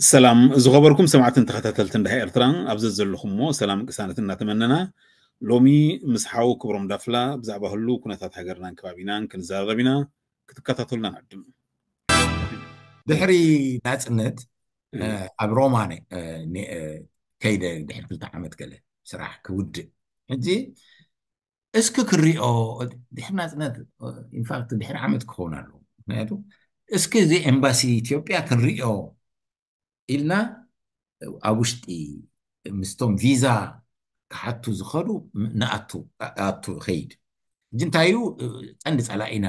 ሰላም ዝኸበርኩም ሰማዕትን ተኸታተልትን ዳህ ኤርትራ፣ ኣብ ዘዘለኹምዎ ሰላም ቅሳነት እናተመነና፣ ሎሚ ምስ ሓው ክብሮም ዳፍላ ብዛዕባ ህሉው ኩነታት ሃገርናን ከባቢናን ክንዛረብ ኢና። ክትከታተሉና ንዕድም። ድሕሪ ናጽነት፣ እ። እ፣ ኣብ ሮማ ነ-፣ እ፣ ነ-፣ እ፣ ከይደ ድሕሪ ክልተ ዓመት ገለ ስራሕ ክውድእ። ሕጂ እስኪ ክሪኦ፣ ድሕሪ ናጽነት፣ ኢንፋክት ድሕሪ ዓመት ክኸውን ኣለዎ። ምክንያቱ እስኪ እዚ ኤምባሲ ኢትዮጵያ ክንሪኦ ኢልና ኣብ ውሽጢ ምስቶም ቪዛ ክሓቱ ዝኸዱ ንኣቱ፣ ኣቱ ኸይድ። ሕጂ እንታይ እዩ፣ ቀንዲ ጸላኢና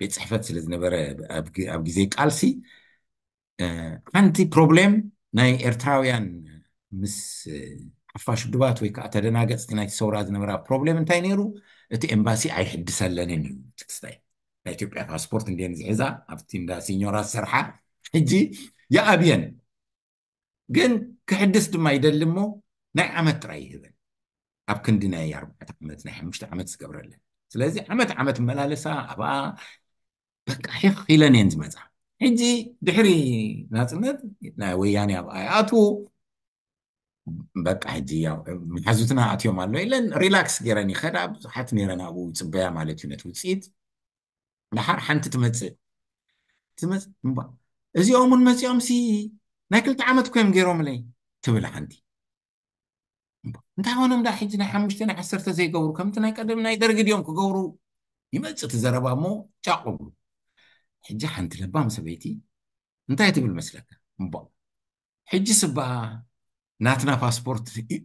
ቤት ጽሕፈት ስለ ዝነበረ ኣብ ግ-፣ ኣብ ግዜ ቃልሲ፣ እ፣ ሓንቲ ፕሮብሌም ናይ ኤርትራውያን ምስ፣ እ፣ ሓፋሽ ውድባት ወይ ከዓ ተደናገጽቲ ናይቲ ሰውራ ዝነበራ ፕሮብሌም እንታይ ነይሩ? እቲ ኤምባሲ ኣይሕድሰለንን እዩ። ትክስታይ ናይ ኢትዮጵያ ፓስፖርት እንድየን ዝሕዛ ኣብቲ እንዳ ሲኞራ ዝሰርሓ፣ ሕጂ ይኣብየን። ግን ክሕድስ ድማ ይደሊ እሞ ናይ ዓመት ጥራይ ይህበን። ኣብ ክንዲ ናይ ኣርባዕተ ዓመት፣ ናይ ሓሙሽተ ዓመት ዝገብረለን። ስለዚ ዓመት ዓመት እመላለሳ ኣብኣ በቃ ሒኽ ኢለን እየን ዝመጻ። ሕጂ ድሕሪ ናጽነት ናይ ወያኔ ኣብኣ ይኣትዉ። በቃ ሕጂ ያው መሓዙትና ኣትዮም ኣሎ ኢለን ሪላክስ ገይረን ይኸዳ። ብዙሓት ነይረን ኣብኡ ይጽበያ ማለት እዩ ነቲ ውጽኢት። ደሓር ሓንቲ ትመጽእ። ትመጽእ እምባ፣ "እዚኦም እውን መጺኦም ሲ ናይ ክልተ ዓመት እኮ እዮም ገይሮምለይ" ትብል ሓንቲ። እምባ፣ "እንታይ ኾኖም ዳ ሕጂ ናይ ሓሙሽተ ናይ ዓሰርተ ዘይገብሩ? ከምቲ ናይ ቀደም ናይ ደርጊ ድዮም ክገብሩ?" ይመጽእ እቲ ዘረባ እሞ ጫቕ እብሉ። ሕጂ ሓንቲ ለባም ሰበይቲ እንታይ ትብል መስለካ? እምባ፣ "ሕጂ ስባ ናትና ፓስፖርት ይ-፣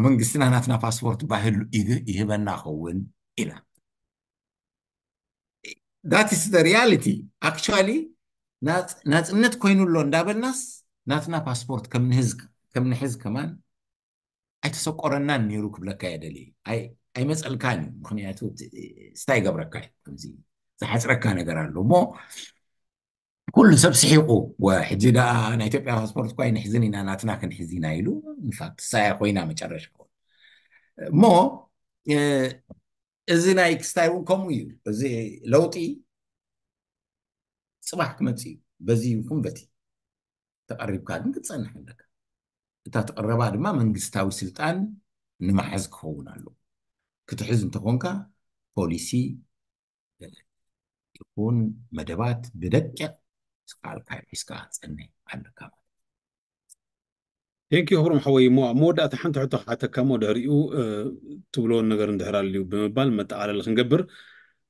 መንግስትና ናትና ፓስፖርት ባህሉ ይህ-፣ ይህበና ኸውን?" ኢላ። That is the reality. Actually ናጽ-፣ ናጽነት ኮይኑ ኣሎ እንዳበልናስ ናትና ፓስፖርት ከም ንህዝ-፣ ከም ንሕዝ ከማን ኣይተሰቆረናን ነይሩ ክብለካ እየ ደልየ። ኣይ-፣ ኣይመጸልካን እዩ። ምክንያቱ እቲ፣ ስታይ ገብረካ እዩ። ከምዚ ዝሓጽረካ ነገር ኣሎ እሞ ኩሉ ሰብ ስሒቑ፣ "ወ፣ ሕጂ ደኣ ናይ ኢትዮጵያ ፓስፖርት እኳ ኣይንሕዝን ኢና፣ ናትና ክንሕዝ ኢና" ኢሉ። ኢንፋክት ሳያ ኮይና መጨረሻ። እሞ፣ እ፣ እዚ ናይ ክስታይ እውን ከምኡ እዩ። እዚ ለውጢ ጽባሕ ክመጽእ እዩ። በዚ ይኹን በቲ ተቐሪብካ ግን ክትጸንሕ ኣለካ። እታ ትቕረባ ድማ መንግስታዊ ስልጣን ንምሓዝ ክኸውን ኣለዎ። ክትሕዝ እንተኾንካ ፖሊሲ ይኹን መደባት ብደቂቕ ዝከኣልካ ሒዝካ ክትጸንሕ ኣለካ ማለት እዩ። ቴንክ ዩ ክብሮም ሓወይ። እሞ ኣብ መወዳእታ ሓንቲ ሕቶ ክሓተካ እሞ ድሕሪኡ፣ እ፣ ትብሎ ነገር እንድሕር ኣልዩ ብምባል መጠቓለሊ ክንገብር።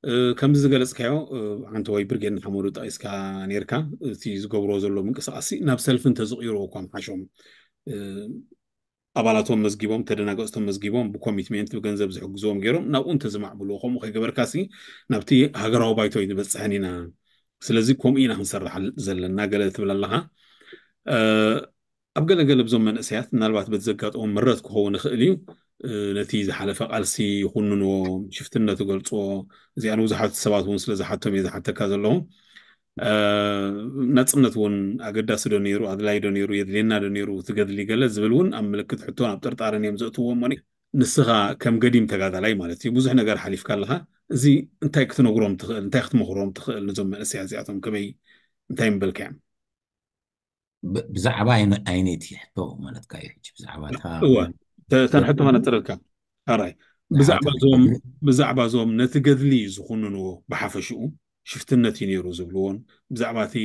እ፣ ከምዚ ዝገለጽካዮ፣ እ፣ ሓንቲ ወይ ብርጌድ ንሓመዱ ጠቒስካ ነይርካ። እቲ ዝገብርዎ ዘሎ ምንቅስቃስ ናብ ሰልፊ እንተዝቕይርዎ እኳ ምሓሾም። እ፣ ኣባላቶም መዝጊቦም፣ ተደናገጽቶም መዝጊቦም፣ ብኮሚትሜንት ብገንዘብ ዝሕግዝዎም ገይሮም ናብኡ እንተዝማዕብልዎ፣ ከምኡ ከይገበርካሲ ናብቲ ሃገራዊ ባይቶ ኣይንበጽሕን ኢና። ስለዚ ከምኡ ኢና ክንሰርሕ ኣል-፣ ዘለና ገለ ትብል ኣለኻ። እ፣ ኣብ ገለ ገለ ብዞም መንእሰያት ምናልባት በቲ ዘጋጠሞም ምረት ክኸውን ይኽእል እዩ። እ፣ ነቲ ዝሓለፈ ቃልሲ ይኹንንዎ፣ ሽፍትነት ይገልጽዎ። እዚኣ ንብዙሓት ሰባት እውን ስለ ዝሓቶም እየ ዝሓተካ ዘለኹ። እ፣ ናጽነት እውን ኣገዳሲ ዶ ነይሩ፣ ኣድላይ ዶ ነይሩ፣ የድልየና ዶ ነይሩ፣ እቲ ገድሊ ገለ ዝብል እውን ኣብ ምልክት ሕቶን ኣብ ጥርጣረን እዮም ዘእትውዎ። እሞ ንስኻ ከም ገዲም ተጋዳላይ ማለት እዩ፣ ብዙሕ ነገር ሓሊፍካ ኣለኻ። እዚ እንታይ ክትነግሮም ትኽእል፣ እንታይ ክትመኽሮም ትኽእል ነዞም መንእሰያት እዚኣቶም፣ ከመይ፣ እንታይ ምበልካዮም? ብ-፣ ብዛዕባ ኣይነ-፣ ኣይነይቲ ሕቶ ማለትካ እዩ። ሕጂ ብዛዕባ እታ እወ፣ ተ-፣ እተን ሕቶ ከነጽረልካ። ኣራይ፣ ብዛዕባ ብዛዕባ እዞም፣ ገድሊ፣ ብዛዕባ እዞም ነቲ ገድሊ ዝኹንንዎ ብሓፈሽኡ ሽፍትነት እዩ ነይሩ ዝብልዎን፣ ብዛዕባ እቲ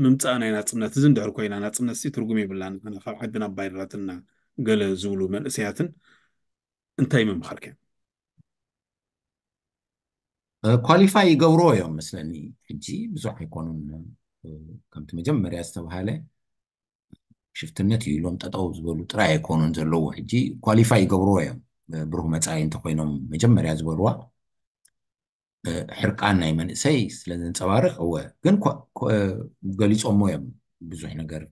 ምምጻእ ናይ ናጽነት፣ እዚ እንድሕር ኮይና ናጽነት ሲ ትርጉም የብላን፣ ንሕና ካብ ዓድና ኣባይራትና ገለ ዝብሉ መንእሰያትን እንታይ ምምኻርካ? እ፣ ኳሊፋይ ይገብርዎ እዮም መስለኒ። ሕጂ ብዙሕ ኣይኮኑን። እ፣ ከምቲ መጀመርያ ዝተባሃለ ሽፍትነት እዩ ኢሎም ጠጠው ዝበሉ ጥራይ ኣይኮኑን ዘለዉ። ሕጂ ኳሊፋይ ይገብርዎ እዮም። እ፣ ብሩህ መጻኢ እንተኮይኖም መጀመርያ ዝበልዋ፣ እ፣ ሕርቃን ናይ መንእሰይ ስለ ዘንጸባርቕ፣ እወ። ግን ኮ-፣ ኮ-፣ እ፣ ገሊጾሞ እዮም ብዙሕ ነገር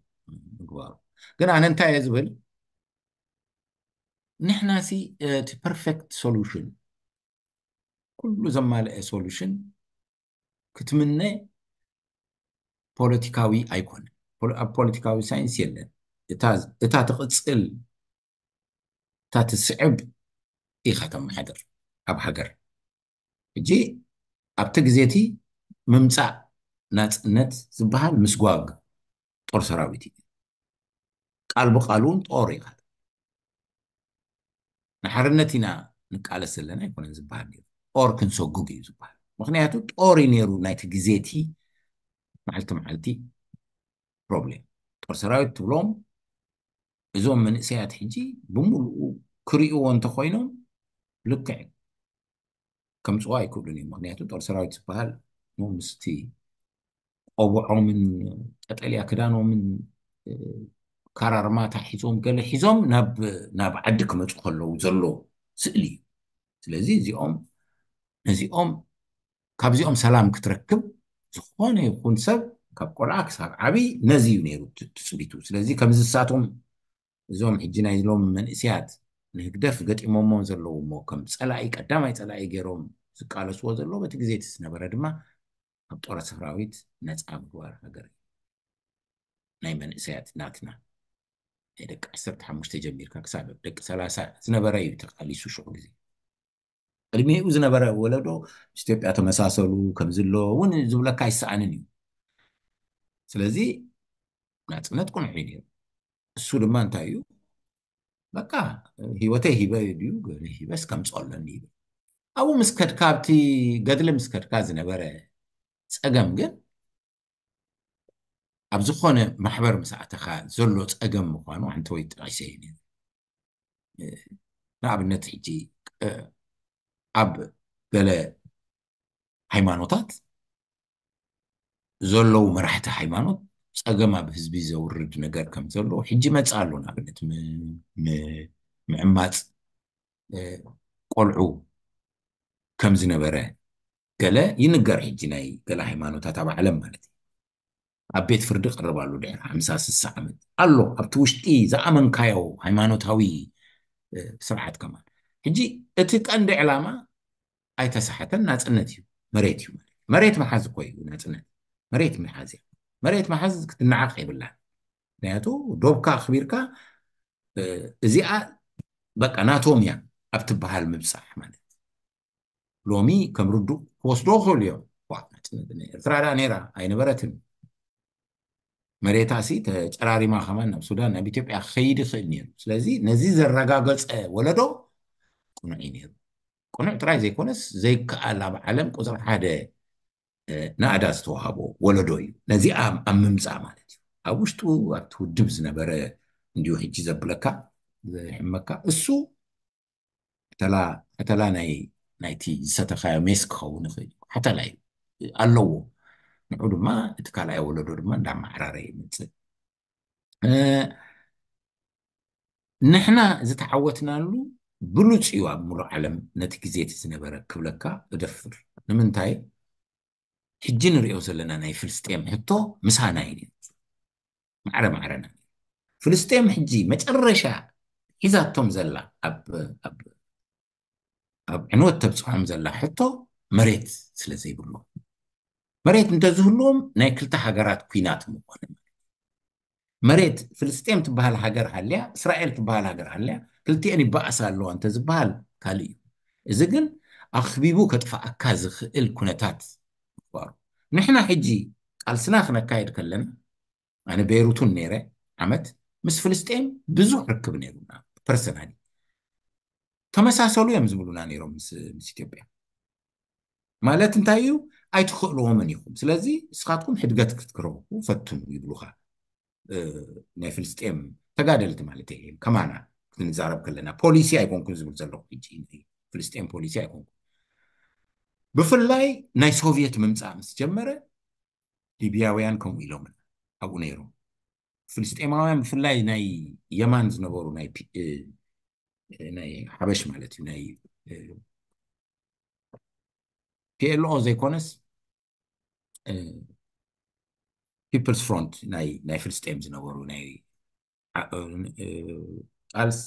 ምግባሩ። ግን ኣነ እንታይ እየ ዝብል፣ ንሕናሲ፣ እ፣ እቲ ፐርፌክት ሶሉሽን፣ ኩሉ ዘማልአ ሶሉሽን ክትምነ ፖለቲካዊ ኣይኮነን። ፖለ-፣ ኣብ ፖለቲካዊ ሳይንስ የለን። እታ፣ እታ ትቕጽል፣ እታ ትስዕብ ኢኻ ተመሓድር ኣብ ሃገር። ሕጂ ኣብቲ ግዜ እቲ ምምጻእ ናጽነት ዝበሃል ምስጓግ ጦር ሰራዊት እዩ። ቃል ብቃል እውን ጦር እዩ። ንሓርነት ኢና ንቃለስ ዘለና ኣይኮነን ዝበሃል ነይሩ። ጦር ክንሰጉግ እዩ ዝበሃል። ምክንያቱ ጦር እዩ ነይሩ ናይቲ ግዜ እቲ መዓልቲ መዓልቲ ፕሮብሌም። ጦር ሰራዊት ትብሎም እዞም መንእሰያት ሕጂ ብምሉኡ ክርእይዎ እንተኮይኖም ልክዕ ከምፅዋ ኣይክእሉን እዮም። ምክንያቱ ጦር ሰራዊት ዝበሃል ምስቲ ቆብዖምን ቀጠልያ ክዳኖምን ካራርማታ ሒዞም ገለ ሒዞም ናብ ዓዲ ክመፁ ከለዉ ዘሎ ስእሊ እዩ። ስለዚ እዚኦም ነዚኦም ካብዚኦም ሰላም ክትረክብ ዝኾነ ይኹን ሰብ ካብ ቆልዓ ክሳብ ዓብዪ ነዚ እዩ ነይሩ ትፅቢቱ። ስለዚ ከምዚ ንሳቶም እዞም ሕጂ ናይ ሎም መንእስያት ንህግደፍ ገጢሞሞ ዘለዉ እሞ ከም ፀላኢ ቀዳማይ ፀላኢ ገይሮም ዝቃለስዎ ዘለዉ በቲ ግዜ እቲ ዝነበረ ድማ ኣብ ጦር ሰራዊት ነፃ ምግባር ሃገር ናይ መንእሰያት ናትና ናይ ደቂ ዓሰርተ ሓሙሽተ ጀሚርካ ክሳብ ደቂ ሰላሳ ዝነበረ እዩ ተቃሊሱ ሽዑ ግዜ። ቅድሚኡ ዝነበረ ወለዶ ምስ ኢትዮጵያ ተመሳሰሉ ከምዚ ኣሎ እውን ዝብለካ ኣይሰኣንን እዩ። ስለዚ ናፅነት ቁኑዕ እዩ ነይሩ። እሱ ድማ እንታይ እዩ በቃ ህይወተይ ሂበ ድዩ ሂበስ ከምፅኦ ኣለኒ ይብል። ኣብኡ ምስ ከድካ ኣብቲ ገድሊ ምስ ከድካ ዝነበረ ፀገም ግን ኣብ ዝኾነ ማሕበር ምስ ኣተኻ ዘሎ ፀገም ምዃኑ ኣንተ ወይ ጠቂሰ እዩ ነይሩ። ንኣብነት ሕጂ ኣብ ገለ ሃይማኖታት ዘለዉ መራሕቲ ሃይማኖት ፀገም ኣብ ህዝቢ ዘውርድ ነገር ከም ዘሎ ሕጂ መፅእ ኣሎ። ንኣብነት ምዕማፅ ቆልዑ ከም ዝነበረ ገለ ይንገር። ሕጂ ናይ ገለ ሃይማኖታት ኣብ ዓለም ማለት እዩ ኣብ ቤት ፍርዲ ቀርብ ኣሎ ድሕሪ ሓምሳ ስሳ ዓመት ኣሎ። ኣብቲ ውሽጢ ዝኣመንካዮ ሃይማኖታዊ ስርዓት ከማን ሕጂ እቲ ቀንዲ ዕላማ ኣይተሳሓተን ናፅነት እዩ። መሬት እዩ ማለት መሬት መሓዝ እኮ እዩ ናፅነት። መሬት መሓዝ እያ። መሬት መሓዝ ክትነዓቕ የብላን። ምክንያቱ ዶብካ ኣኽቢርካ እዚኣ በቃ ናቶም እያ ኣብ ትበሃል ምብፃሕ ማለት ሎሚ ከም ርዱእ ክወስዶ ክኽእሉ እዮም። ናፅነት ኤርትራ ዳ ነይራ ኣይነበረትን። መሬታ ሲ ተጨራሪማ ከማን ናብ ሱዳን ናብ ኢትዮጵያ ክኸይድ ይኽእል ነይሩ። ስለዚ ነዚ ዘረጋገፀ ወለዶ ቅኑዕ እዩ ነይሩ። ቅኑዕ ጥራይ ዘይኮነስ ዘይከኣል ኣብ ዓለም ቁፅሪ ሓደ ናእዳ ዝተዋሃቦ ወለዶ እዩ። ነዚ ኣብ ምምፃእ ማለት እዩ ኣብ ውሽጡ ኣብቲ ውድብ ዝነበረ እንዲሁ ሕጂ ዘብለካ ዘሕመካ እሱ ቀተላ ናይ ናይቲ ዝሰተኻዮ ሜስ ክኸውን ይኽእል እዩ። ሓተላ እዩ ኣለዎ። ንዑ ድማ እቲ ካልኣይ ወለዶ ድማ እንዳማዕራረ ይመፅእ። ንሕና ዝተዓወትናሉ ብሉፅ እዩ ኣብ ሙሉእ ዓለም ነቲ ግዜ እቲ ዝነበረ ክብለካ እደፍር። ንምንታይ ሕጂ ንሪኦ ዘለና ናይ ፍልስጤም ሕቶ ምሳና እዩ። ማዕረ ማዕረና ፍልስጤም ሕጂ መጨረሻ ሒዛቶም ዘላ ኣብ ዕንወት ተብፅሖም ዘላ ሕቶ መሬት ስለ ዘይብሎም መሬት እንተዝህልዎም ናይ ክልተ ሃገራት ኩናት ምኾነ። መሬት ፍልስጤም ትበሃል ሃገር ሃልያ እስራኤል ትበሃል ሃገር ሃልያ ክልቲኤን ይበኣሳ ኣለዋ እንተዝበሃል ካልእ እዩ። እዚ ግን ኣኽቢቡ ከጥፍኣካ ዝኽእል ኩነታት ምኽባሩ ንሕና ሕጂ ቃልስና ክነካየድ ከለና ኣነ ቤይሩቱን ነይረ ዓመት ምስ ፍልስጤም ብዙሕ ርክብ ነይሩና ፐርሰናሊ ተመሳሰሉ እዮም ዝብሉና ነይሮም ምስ ኢትዮጵያ ማለት እንታይ እዩ ኣይትኽእልዎምን ኢኹም ስለዚ እስኻትኩም ሕድገት ክትክረቡ ፈትኑ ይብሉኻ ናይ ፍልስጤም ተጋደልቲ ማለት እየ ከማና ክንዛረብ ከለና ፖሊሲ ኣይኮንኩን ዝብል ዘለኹ ሕጂ ፍልስጤም ፖሊሲ ኣይኮንኩን ብፍላይ ናይ ሶቪየት ምምፃእ ምስ ጀመረ ሊብያውያን ከምኡ ኢሎም ኣብኡ ነይሮም ፍልስጤማውያን ብፍላይ ናይ የማን ዝነበሩ ናይ ሓበሽ ማለት እዩ ናይ ፒኤልኦ ዘይኮነስ ፒፕልስ ፍሮንት ናይ ፍልስጤም ዝነበሩ ናይ ቃልስ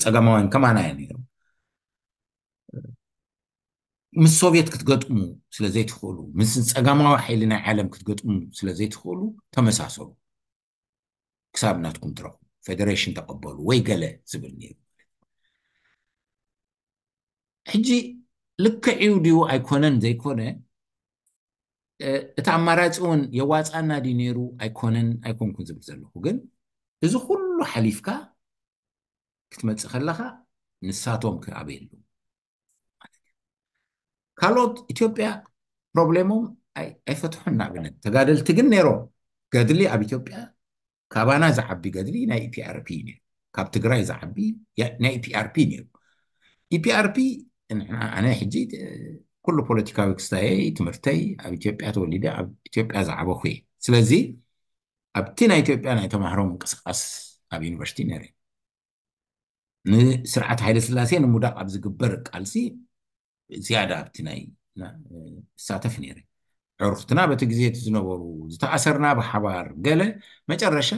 ፀጋማውያን ከማና እዮም ነይሮም ምስ ሶቪየት ክትገጥሙ ስለ ዘይትኽእሉ ምስ ፀጋማዊ ሓይሊ ናይ ዓለም ክትገጥሙ ስለ ዘይትኽእሉ ተመሳሰሉ ክሳብ ናትኩም ትረኽቡ ፌደሬሽን ተቐበሉ ወይ ገለ ዝብል ነይሩ ሕጂ ልክዕ እዩ ድዩ ኣይኮነን ዘይኮነ እቲ ኣማራፂ እውን የዋፃና ድዩ ነይሩ ኣይኮነን ኣይኮንኩን ዝብል ዘለኹ ግን እዚ ኩሉ ሓሊፍካ ክትመጽእ ከለኻ ንሳቶም ክኣበየሉ። ካልኦት ኢትዮጵያ ፕሮብሌሞም ኣይ- ኣይፈትሑን። ንኣብነት ተጋደልቲ ግን ነይሮም። ገድሊ ኣብ ኢትዮጵያ ካባና ዝዓቢ ገድሊ ናይ ኢፒኣርፒ እዩ ነይሩ። ካብ ትግራይ ዝዓቢ ያ- ናይ ኢፒኣርፒ ነይሩ። ኢፒኣርፒ ንሕና- ኣነ ሕጂ እ፣ ኩሉ ፖለቲካዊ ክስታየይ ትምህርተይ ኣብ ኢትዮጵያ ተወሊደ ኣብ ኢትዮጵያ ዝዓበኹ እየ። ስለዚ ኣብቲ ናይ ኢትዮጵያ ናይ ተማሃሮ ምንቅስቃስ ኣብ ዩኒቨርሲቲ ነይረ። ንስርዓት ሃይለ ስላሴ ንምውዳቕ ኣብ ዝግበር ቃልሲ ዝያዳ ኣብቲ ናይ ና- እሳተፍ ነይረ። ዕሩኽትና በቲ ግዜ እቲ ዝነበሩ ዝተኣሰርና ብሓባር ገለ መጨረሻ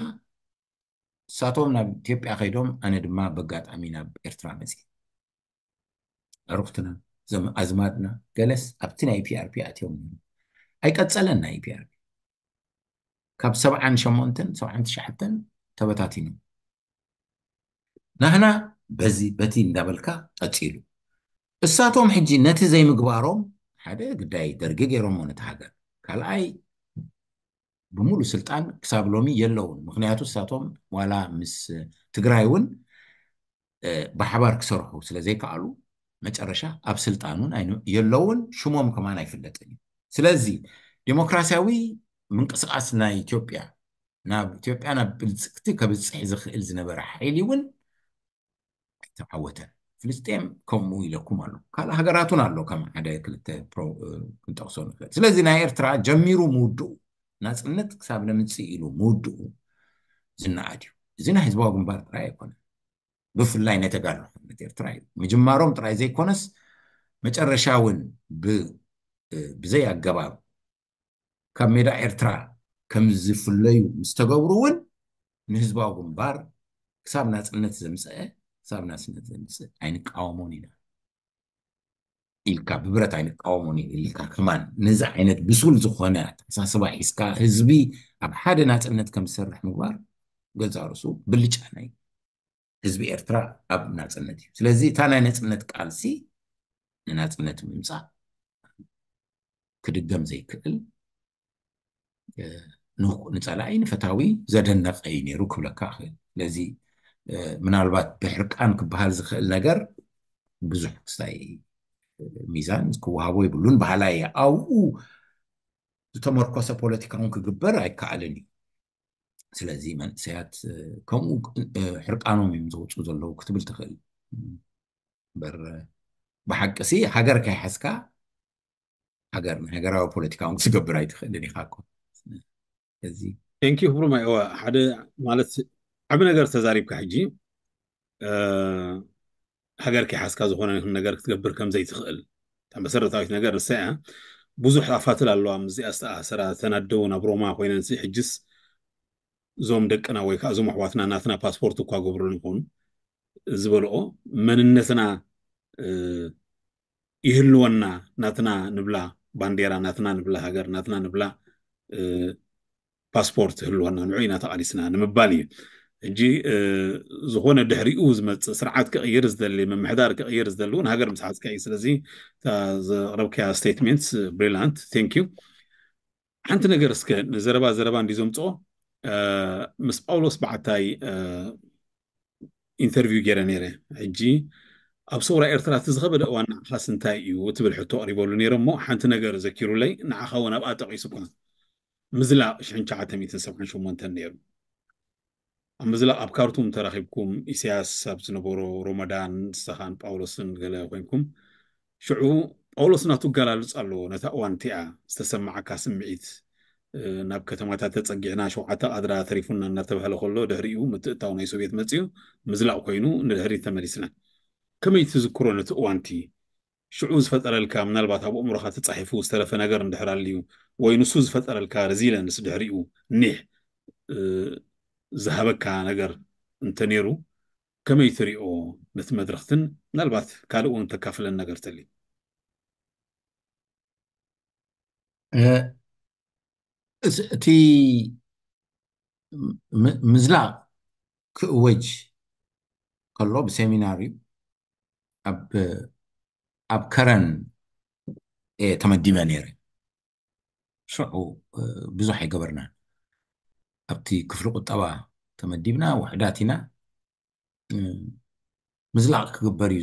ንሳቶም ናብ ኢትዮጵያ ከይዶም ኣነ ድማ በጋጣሚ ናብ ኤርትራ መፅእ። ዕሩኽትና ዘም- ኣዝማድና ገለስ ኣብቲ ናይ ፒኣርፒ ኣትዮም ነይሮም። ኣይቀፀለን ናይ ፒኣርፒ ካብ ሰብዓን ሸሞንተን ሰብዓን ትሽዓተን ተበታቲኑ ናህና በዚ በቲ እንዳበልካ ቀፂሉ። እሳቶም ሕጂ ነቲ ዘይምግባሮም ሓደ ግዳይ ደርጊ ገይሮሞ ነቲ ሃገር፣ ካልኣይ ብምሉእ ስልጣን ክሳብ ሎሚ የለውን። ምክንያቱ እሳቶም ዋላ ምስ ትግራይ እውን እ፣ ብሓባር ክሰርሑ ስለ ዘይከኣሉ መጨረሻ ኣብ ስልጣን እውን ኣይኑ- የለውን፣ ሽሞም ከማን ኣይፍለጥን እዩ። ስለዚ ዲሞክራሲያዊ ምንቅስቃስ ናይ ኢትዮጵያ ናብ ኢትዮጵያ ናብ ብልፅግቲ ከብፅሕ ዝኽእል ዝነበረ ሓይሊ እውን ኣይተዓወተን። ፍልስጤም ከምኡ ኢለኩም ኣሎ፣ ካልእ ሃገራት እውን ኣሎ፣ ከም ሓደ ክልተ ፕሮ- እ፣ ክንጠቕሶ ንኽእል። ስለዚ ናይ ኤርትራ ጀሚሩ ምውድኡ ናፅነት ክሳብ ነምፅእ ኢሉ ምውድኡ ዝነኣድ እዩ። እዚ ናይ ህዝባዊ ግንባር ጥራይ ኣይኮነን። ብፍላይ ናይ ተጋድሎ ሓርነት ኤርትራ እዩ። ምጅማሮም ጥራይ ዘይኮነስ መጨረሻ እውን ብ- ብዘይ ኣገባብ ካብ ሜዳ ኤርትራ ከም ዝፍለዩ ምስ ተገብሩ እውን ንህዝባዊ ግንባር ክሳብ ናጽነት ዘምፀአ ክሳብ ናጽነት ዘምፅእ ኣይንቃወሞን ኢና ኢልካ ብብረት ኣይንቃወሞን ኢና ኢልካ ከማን ነዚ ዓይነት ብሱል ዝኾነ ኣተሓሳስባ ሒዝካ ህዝቢ ኣብ ሓደ ናጽነት ከም ዝሰርሕ ምግባር ገዛ ርእሱ ብልጫ ናይ ህዝቢ ኤርትራ ኣብ ናጽነት እዩ። ስለዚ እታ ናይ ነጽነት ቃልሲ ንናጽነት ምምጻእ ክድገም ዘይክእል እ፣ ንኹ- ንጸላኢ ንፈታዊ ዘደነቀ እዩ ነይሩ ክብለካ እኽእል። ስለዚ እ፣ ምናልባት ብሕርቃን ክበሃል ዝኽእል ነገር ብዙሕ ክስታይ ሚዛን ክወሃቦ ይብሉን በሃላይ እየ። ኣብኡ ዝተመርኮሰ ፖለቲካ እውን ክግበር ኣይከኣልን እዩ። ስለዚ መንእሰያት እ፣ ከምኡ እ፣ ሕርቃኖም እዮም ዘውፅኡ ዘለዉ ክትብል ትኽእል። እምበር ብሓቂ ሲ ሃገር ከይሓዝካ ሃገር ንሃገራዊ ፖለቲካ እውን ክትገብር ኣይትኽእልን ኢኻ እኮ። እዚ ቴንኪዩ ክብሮም። ኣይዋ ሓደ ማለት ዓቢ ነገር ተዛሪብካ ሕጂ እ፣ ሃገር ከይሓዝካ ዝኾነ ይኹን ነገር ክትገብር ከም ዘይትኽእል እታ መሰረታዊት ነገር ንሳ እያ። ብዙሕ ኣፋትል ኣለዋ ምስዚኣ ዝተኣሰራ ተናደው ናብ ሮማ ኮይነን ሲ ሕጅስ እዞም ደቅና ወይ ከዓ እዞም ኣሕዋትና ናትና ፓስፖርት እኳ ገብሩልና ይኾኑ ዝበልኦ መንነትና እ፣ ይህልወና ናትና ንብላ ባንዴራ ናትና ንብላ ሃገር ናትና ንብላ እ፣ ፓስፖርት ይህልወና ንዑ ኢና ተቓሊስና ንምባል እዩ። ሕጂ እ፣ ዝኾነ ድሕሪኡ ዝመፅእ ስርዓት ክቕይር ዝደሊ ምምሕዳር ክቕይር ዝደሊ እውን ሃገር ምስ ሓዝካ እዩ። ስለዚ እታ ዘቕረብካያ ስቴትሜንትስ ብሪላንት ቴንክ ዩ። ሓንቲ ነገር እስከ ንዘረባ ዘረባ እንዲ ዘምፅኦ እ፣ ምስ ጳውሎስ በዓታይ እ፣ ኢንተርቪው ገይረ ነይረ። ሕጂ ኣብ ሰውራ ኤርትራ እቲ ዝኸበደ እዋን ንዓኻስ እንታይ እዩ ትብል ሕቶ ኣቕሪበሉ ነይረ እሞ ሓንቲ ነገር ዘኪሩለይ ንዓኻ እውን ኣብኣ ጠቒሱ እኳ ምዝላቕ ሽሕን ትሽዓተ ሚእትን ሰብዓን ሸሞንተን ነይሩ። ኣብ ምዝላቕ ኣብ ካርቱም ተራኺብኩም ኢሳያስ ኣብ ዝነበሮ ሮመዳን ንስኻን ጳውሎስን ገለ ኮይንኩም ሽዑ ጳውሎስ ናቱ ኣገላልጻ ኣለዎ ነታ እዋን እቲኣ ዝተሰማዓካ ስምዒት እ፣ ናብ ከተማታት ተጸጊዕና ሸውዓተ ቃድራ ተሪፉና እናተባህለ ከሎ ድሕሪኡ ምትእታው ናይ ሶቪየት መጺኡ ምዝላቕ ኮይኑ ንድሕሪት ተመሊስና። ከመይ ትዝክሮ ነቲ እዋንቲ? ሽዑ ዝፈጠረልካ ምናልባት ኣብ ኣእምሮኻ ተጻሒፉ ዝተረፈ ነገር እንድሕር ኣልዩ ወይ ንሱ ዝፈጠረልካ ሬዚለንስ ድሕሪኡ ኒሕ እ፣ ዝሃበካ ነገር እንተነይሩ ከመይ ትሪኦ ነቲ መድረኽትን ምናልባት ካልእ እውን ተካፍለን ነገር ተልዩ? እ፣ እስ- እቲ ም- ምዝላቕ ክእወጅ ከሎ ብሴሚናር እዩ ኣብ ኣብ ከረን እየ ተመዲበ ነይረ። ሽዑ እ፣ ብዙሕ ኣይገበርናን። ኣብቲ ክፍሊ ቁጠባ ተመዲብና ውሕዳት ኢና። ምዝላቕ ክግበር እዩ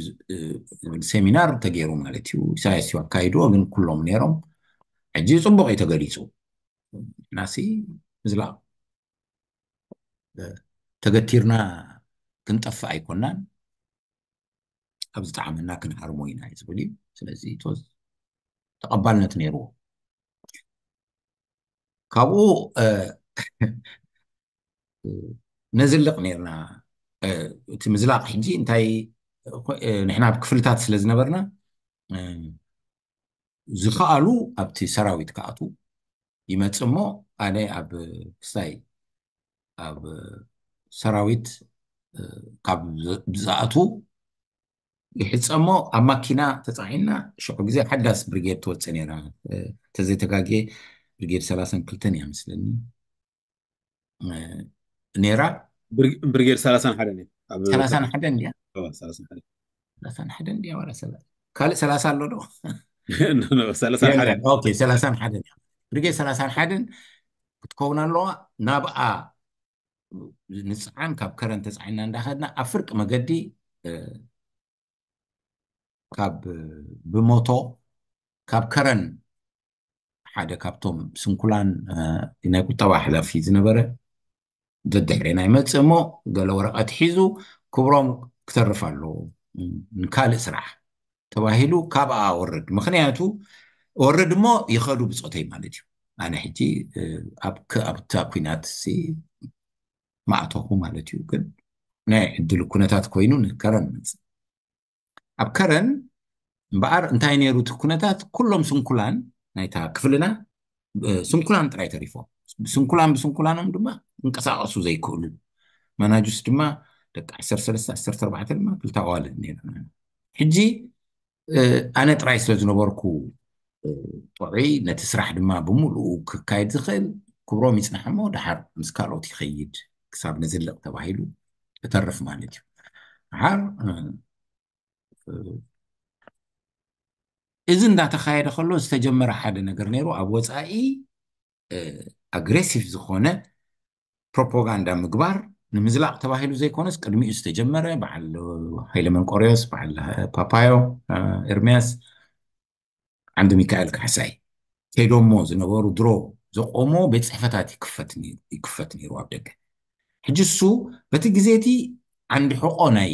ዝብል ሴሚናር ተገይሩ ማለት እዩ። ኢሳያስ እዩ ኣካይድዎ፣ ግን ኩሎም ነይሮም። ሕጂ ጽቡቕ እዩ ተገሊጹ። ናሲ ምዝላቕ ተገቲርና ክንጠፍእ ኣይኮናን፣ ኣብ ዝጠዓመና ክንሃርሞ ኢና እዩ ዝብል እዩ። ስለዚ ተቐባልነት ነይርዎ። ካብኡ ነዝልቕ ነርና። እቲ ምዝላቕ ሕጂ እንታይ፣ ንሕና ኣብ ክፍልታት ስለ ዝነበርና፣ ዝኸኣሉ ኣብቲ ሰራዊት ክኣቱ ይመጽእ እሞ፣ ኣነ ኣብ ክስታይ ኣብ ሰራዊት ካብ ዝኣቱ ይሕጸ እሞ፣ ኣብ ማኪና ተጻዒና ሽዑ ግዜ ሓዳስ ብሪጌድ ትወጽእ ነይራ። ተዘይተጋግየ ብሪጌድ ሰላሳን ክልተን እያ መስለኒ ነይራ። ብሪጌድ ሰላሳን ሓደን እዩ። ሰላሳን ሓደን ድያ? ሰላሳን ሓደን ድያ? ዋላ ካልእ ሰላሳ ኣሎ ዶ? ሰላሳን ሓደን እያ። ብሪጌድ ሰላሳን ሓደን ክትከውን ኣለዋ። ናብኣ ንፅዓን ካብ ከረን ተፃዒና እንዳኸድና ኣብ ፍርቂ መገዲ ካብ ብሞቶ ካብ ከረን ሓደ ካብቶም ስንኩላን ናይ ቁጠባ ሓላፊ ዝነበረ ደድሕሬና ይመፅእ እሞ፣ ገለ ወረቐት ሒዙ ክብሮም ክተርፍ ኣለዎ ንካልእ ስራሕ ተባሂሉ ካብኣ ወርድ። ምክንያቱ ወርድ እሞ ይኸዱ ብፆተይ ማለት እዩ። ኣነ ሕጂ ኣብታ ኩናት ማእተኹ ማለት እዩ። ግን ናይ ዕድል ኩነታት ኮይኑ ንከረን መፅእ። ኣብ ከረን እምበኣር እንታይ ነይሩ እቲ ኩነታት? ኩሎም ስንኩላን ናይታ ክፍልና ስንኩላን ጥራይ ተሪፎም። ስንኩላን ብስንኩላኖም ድማ እንቀሳቐሱ ዘይክእሉ፣ መናጁስ ድማ ደቂ ዓሰርተ ሰለስተ ዓሰርተ ኣርባዕተ ድማ ክልተ ኣዋልድ ነይሩ። ሕጂ ኣነ ጥራይ ስለ ዝነበርኩ ጥዑይ፣ ነቲ ስራሕ ድማ ብምሉኡ ክካየድ ዝኽእል ክብሮም ይፅናሕ እሞ፣ ደሓር ምስ ካልኦት ይኸይድ ክሳብ ንዝልቕ ተባሂሉ እተርፍ ማለት እዩ። ደሓር እዚ እንዳተኻየደ ከሎ ዝተጀመረ ሓደ ነገር ነይሩ። ኣብ ወፃኢ ኣግሬሲቭ ዝኾነ ፕሮፓጋንዳ ምግባር ንምዝላቕ ተባሂሉ ዘይኮነስ፣ ቅድሚኡ ዝተጀመረ በዓል ሃይለ መንቆርዮስ፣ በዓል ፓፓዮ ኤርሚያስ፣ ዓንዲ ሚካኤል ካሕሳይ ከይዶሞ ዝነበሩ ድሮ ዘቆሞ ቤት ፅሕፈታት ይክፈት ነይሩ ኣብ ደገ። ሕጂ እሱ በቲ ግዜ እቲ ዓንዲ ሕቆ ናይ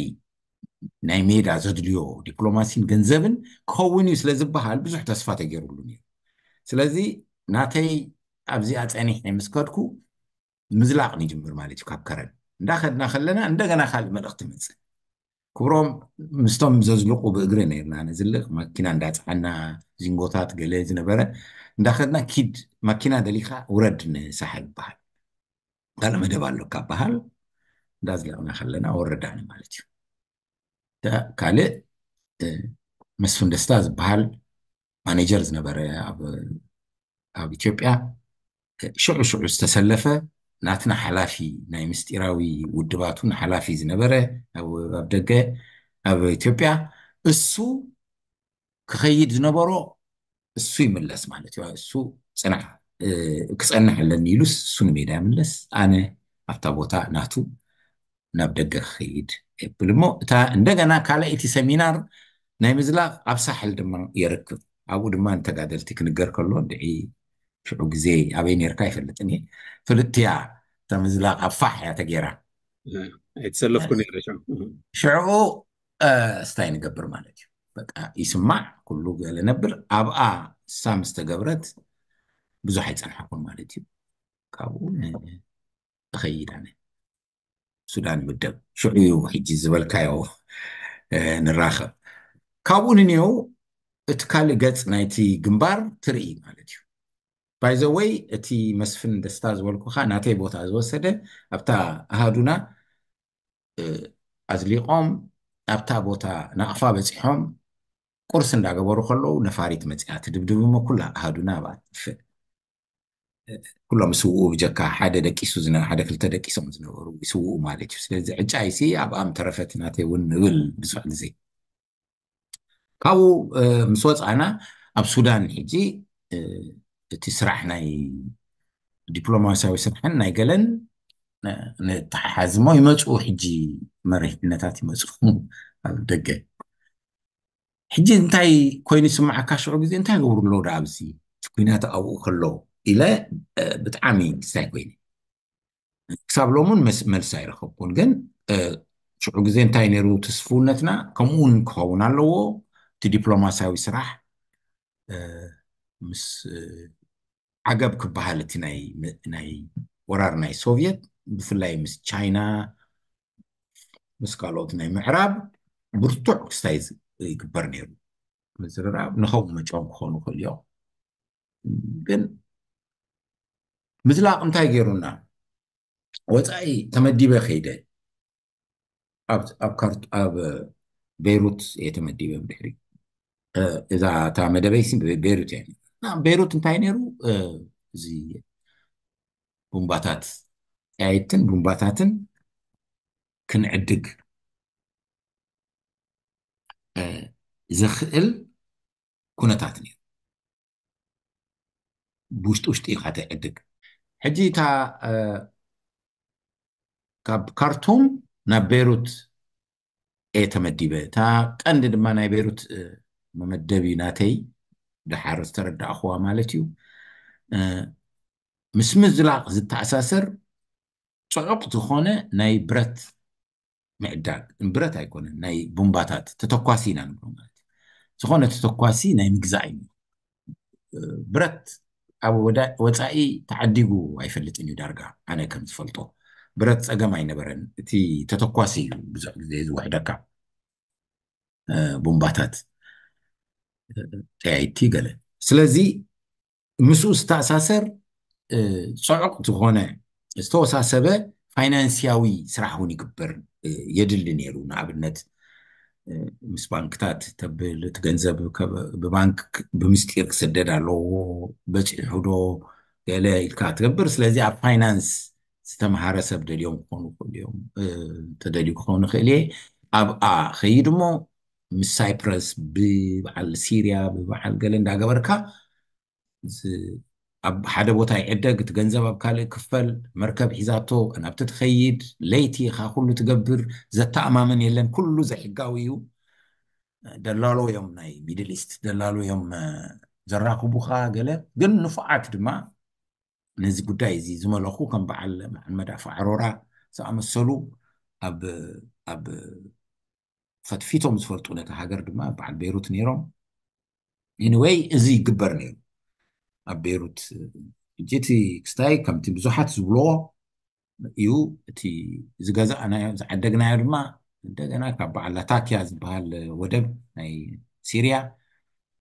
ናይ ሜዳ ዘድልዮ ዲፕሎማሲን ገንዘብን ክኸውን እዩ ስለ ዝበሃል ብዙሕ ተስፋ ተገይሩሉ ነይሩ። ስለዚ ናተይ ኣብዚኣ ፀኒሐ ምስ ከድኩ ምዝላቕ ንጅምር ማለት እዩ። ካብ ከረን እንዳኸድና ከለና እንደገና ካልእ መልእኽቲ መፅእ። ክብሮም ምስቶም ዘዝልቁ ብእግሪ ነርና ነዝልቕ፣ መኪና እንዳፀዓና ዚንጎታት ገለ ዝነበረ እንዳኸድና ኪድ መኪና ደሊኻ ውረድ ንሳሕል በሃል፣ ካልእ መደብ ኣሎ ካብ በሃል እንዳዝለቕና ከለና ወረዳኒ ማለት እዩ። ካልእ መስፍን ደስታ ዝበሃል ማኔጀር ዝነበረ ኣብ ኢትዮጵያ ሽዑ ሽዑ ዝተሰለፈ ናትና ሓላፊ ናይ ምስጢራዊ ውድባቱን ሓላፊ ዝነበረ ኣብ ደገ ኣብ ኢትዮጵያ እሱ ክኸይድ ዝነበሮ እሱ ይምለስ ማለት እዩ። እሱ ፅናሕ ክፀንሕ ኣለኒ ኢሉስ እሱ ንሜዳ ይምለስ፣ ኣነ ኣብታ ቦታ ናቱ ናብ ደገ ክኸይድ የብል እሞ እታ እንደገና ካልኣይቲ ሰሚናር ናይ ምዝላቕ ኣብ ሳሕል ድማ የርክብ። ኣብኡ ድማ ንተጋደልቲ ክንገር ከሎ ድዒ ሽዑ ግዜ ኣበይ ነርካ ይፈልጥን እየ። ፍልጥቲ እያ እታ ምዝላቕ ኣብ ፋሕ እያ ተገይራ። ኣይተሰለፍኩ ነይረ ሽዑ። ሽዑ እስታይ ንገብር ማለት እዩ። በቃ ይስማዕ ኩሉ ገለ ነብር ኣብኣ እሳ ምስ ተገብረት ብዙሕ ኣይፀንሓኩን ማለት እዩ። ካብኡ እኸይድ ኣነ ሱዳን ምደብ ሽዑ እዩ ሕጂ ዝበልካዮ ንራኸብ። ካብኡ ንንየው እቲ ካልእ ገጽ ናይቲ ግንባር ትርኢ ማለት እዩ። ባይዘወይ እቲ መስፍን ደስታ ዝበልኩኻ ናተይ ቦታ ዝወሰደ ኣብታ ኣሃዱና ኣዝሊቖም ኣብታ ቦታ ናቕፋ በፂሖም ቁርስ እንዳገበሩ ከለዉ ነፋሪት መፂኣ ትድብድብ እሞ ኩላ ኣሃዱና ኣብኣ ትጥፍእ። ኩሎም ስውኡ ብጀካ ሓደ ደቂሱ ዝነ ሓደ ክልተ ደቂሶም ዝነበሩ ይስውኡ ማለት እዩ። ስለዚ ዕጫይሲ ኣብኣ ምተረፈት ናተይ እውን ንብል ብዙሕ ግዜ። ካብኡ ምስ ወፃና ኣብ ሱዳን ሕጂ እቲ ስራሕ ናይ ዲፕሎማሲያዊ ስራሕን ናይ ገለን ንተሓሓዝሞ ይመፁ። ሕጂ መሪሕነታት ይመፁ ኣብ ደገ። ሕጂ እንታይ ኮይኑ ይስምዓካ? ሽዑ ግዜ እንታይ ገብሩ ኣለዉ ዳ ኣብዚ እቲ ኩናት ኣብኡ ከሎ ኢለ ብጣዕሚ ክስታይ ኮይነ። ክሳብ ሎሙን መልሲ ኣይረኸብኩን። ግን ሽዑ ግዜ እንታይ ነይሩ ትስፍውነትና? ከምኡውን ክኸውን ኣለዎ። እቲ ዲፕሎማሲያዊ ስራሕ ምስ ዓገብ ክበሃል፣ እቲ ናይ ወራር ናይ ሶቪየት ብፍላይ ምስ ቻይና፣ ምስ ካልኦት ናይ ምዕራብ ብርቱዕ ክስታይ ይግበር ነይሩ። ምዝርራብ ንኸምኡ መጫወም ክኾኑ ይኽእሉ እዮም። ግን ምዝላቕ እንታይ ገይሩና? ወፃኢ ተመዲበ ከይደ ኣብ ቤይሩት እየ ተመዲበ። ብድሕሪ እዛ እታ መደበይ ቤይሩት እያ። ቤይሩት እንታይ ነይሩ? እዚ ቡምባታት፣ ጠያይትን ቡምባታትን ክንዕድግ ዘኽእል ኩነታት ነይሩ። ብውሽጢ ውሽጢ ኢኻ ተዕድግ። ሕጂ እታ ካብ ካርቱም ናብ ቤይሩት እየ ተመዲበ። እታ ቀንዲ ድማ ናይ ቤይሩት መመደቢ ናተይ፣ ደሓር ዝተረዳእኽዋ ማለት እዩ፣ ምስ ምዝላቕ ዝተኣሳሰር ፅዑቕ ዝኾነ ናይ ብረት ምዕዳግ፣ ብረት ኣይኮነን፣ ናይ ቡምባታት ተተኳሲ ኢና ንብሎ ማለት እዩ። ዝኾነ ተተኳሲ ናይ ምግዛእ እዩ። ብረት ኣብ ወፃኢ ተዓዲጉ ኣይፈልጥን እዩ ዳርጋ፣ ኣነ ከም ዝፈልጦ። ብረት ፀገም ኣይነበረን። እቲ ተተኳሲ እዩ ብዙሕ ግዜ ዝውሕደካ። ቡምባታት፣ ጠያይቲ፣ ገለ። ስለዚ ምስኡ ዝተኣሳሰር ፅዑቕ ዝኾነ ዝተወሳሰበ ፋይናንስያዊ ስራሕ እውን ይግበር የድሊ ነይሩ። ንኣብነት ምስ ባንክታት ተብል፣ እቲ ገንዘብ ብባንክ ብምስጢር ክስደድ ኣለዎ፣ በፂሑ ዶ ገለ ኢልካ ትገብር። ስለዚ ኣብ ፋይናንስ ዝተምሃረ ሰብ ደልዮም ክኾኑ ይኽእሉ እዮም፣ ተደልዩ ክኸውን ይኽእል እየ። ኣብኣ ኸይድ እሞ ምስ ሳይፕረስ፣ ብበዓል ሲርያ፣ ብበዓል ገለ እንዳገበርካ ኣብ ሓደ ቦታ ይዕደግ፣ እቲ ገንዘብ ኣብ ካልእ ክፈል፣ መርከብ ሒዛቶ ናብቲ ትኸይድ፣ ለይቲ ኢኻ ኩሉ ትገብር፣ ዘተኣማምን የለን፣ ኩሉ ዘይሕጋዊ እዩ። ደላሎ እዮም፣ ናይ ሚድል ኢስት ደላሎ እዮም ዘራኽቡኻ ገለ። ግን ንፉዓት ድማ ነዚ ጉዳይ እዚ ዝመለኹ ከም በዓል መሓመድ ኣፈ ዓሮራ ዝኣመሰሉ ኣብ ኣብ ፈትፊቶም ዝፈልጡ ነቲ ሃገር ድማ በዓል ቤይሩት ነይሮም። ኤኒወይ፣ እዚ ይግበር ነይሩ ኣብ ቤይሩት። ሕጂ እቲ ክስታይ ከምቲ ብዙሓት ዝብልዎ እዩ። እቲ ዝገዛእናዮ ዝዓደግናዮ ድማ እንደገና ካብ በዓል ላታኪያ ዝበሃል ወደብ ናይ ሲርያ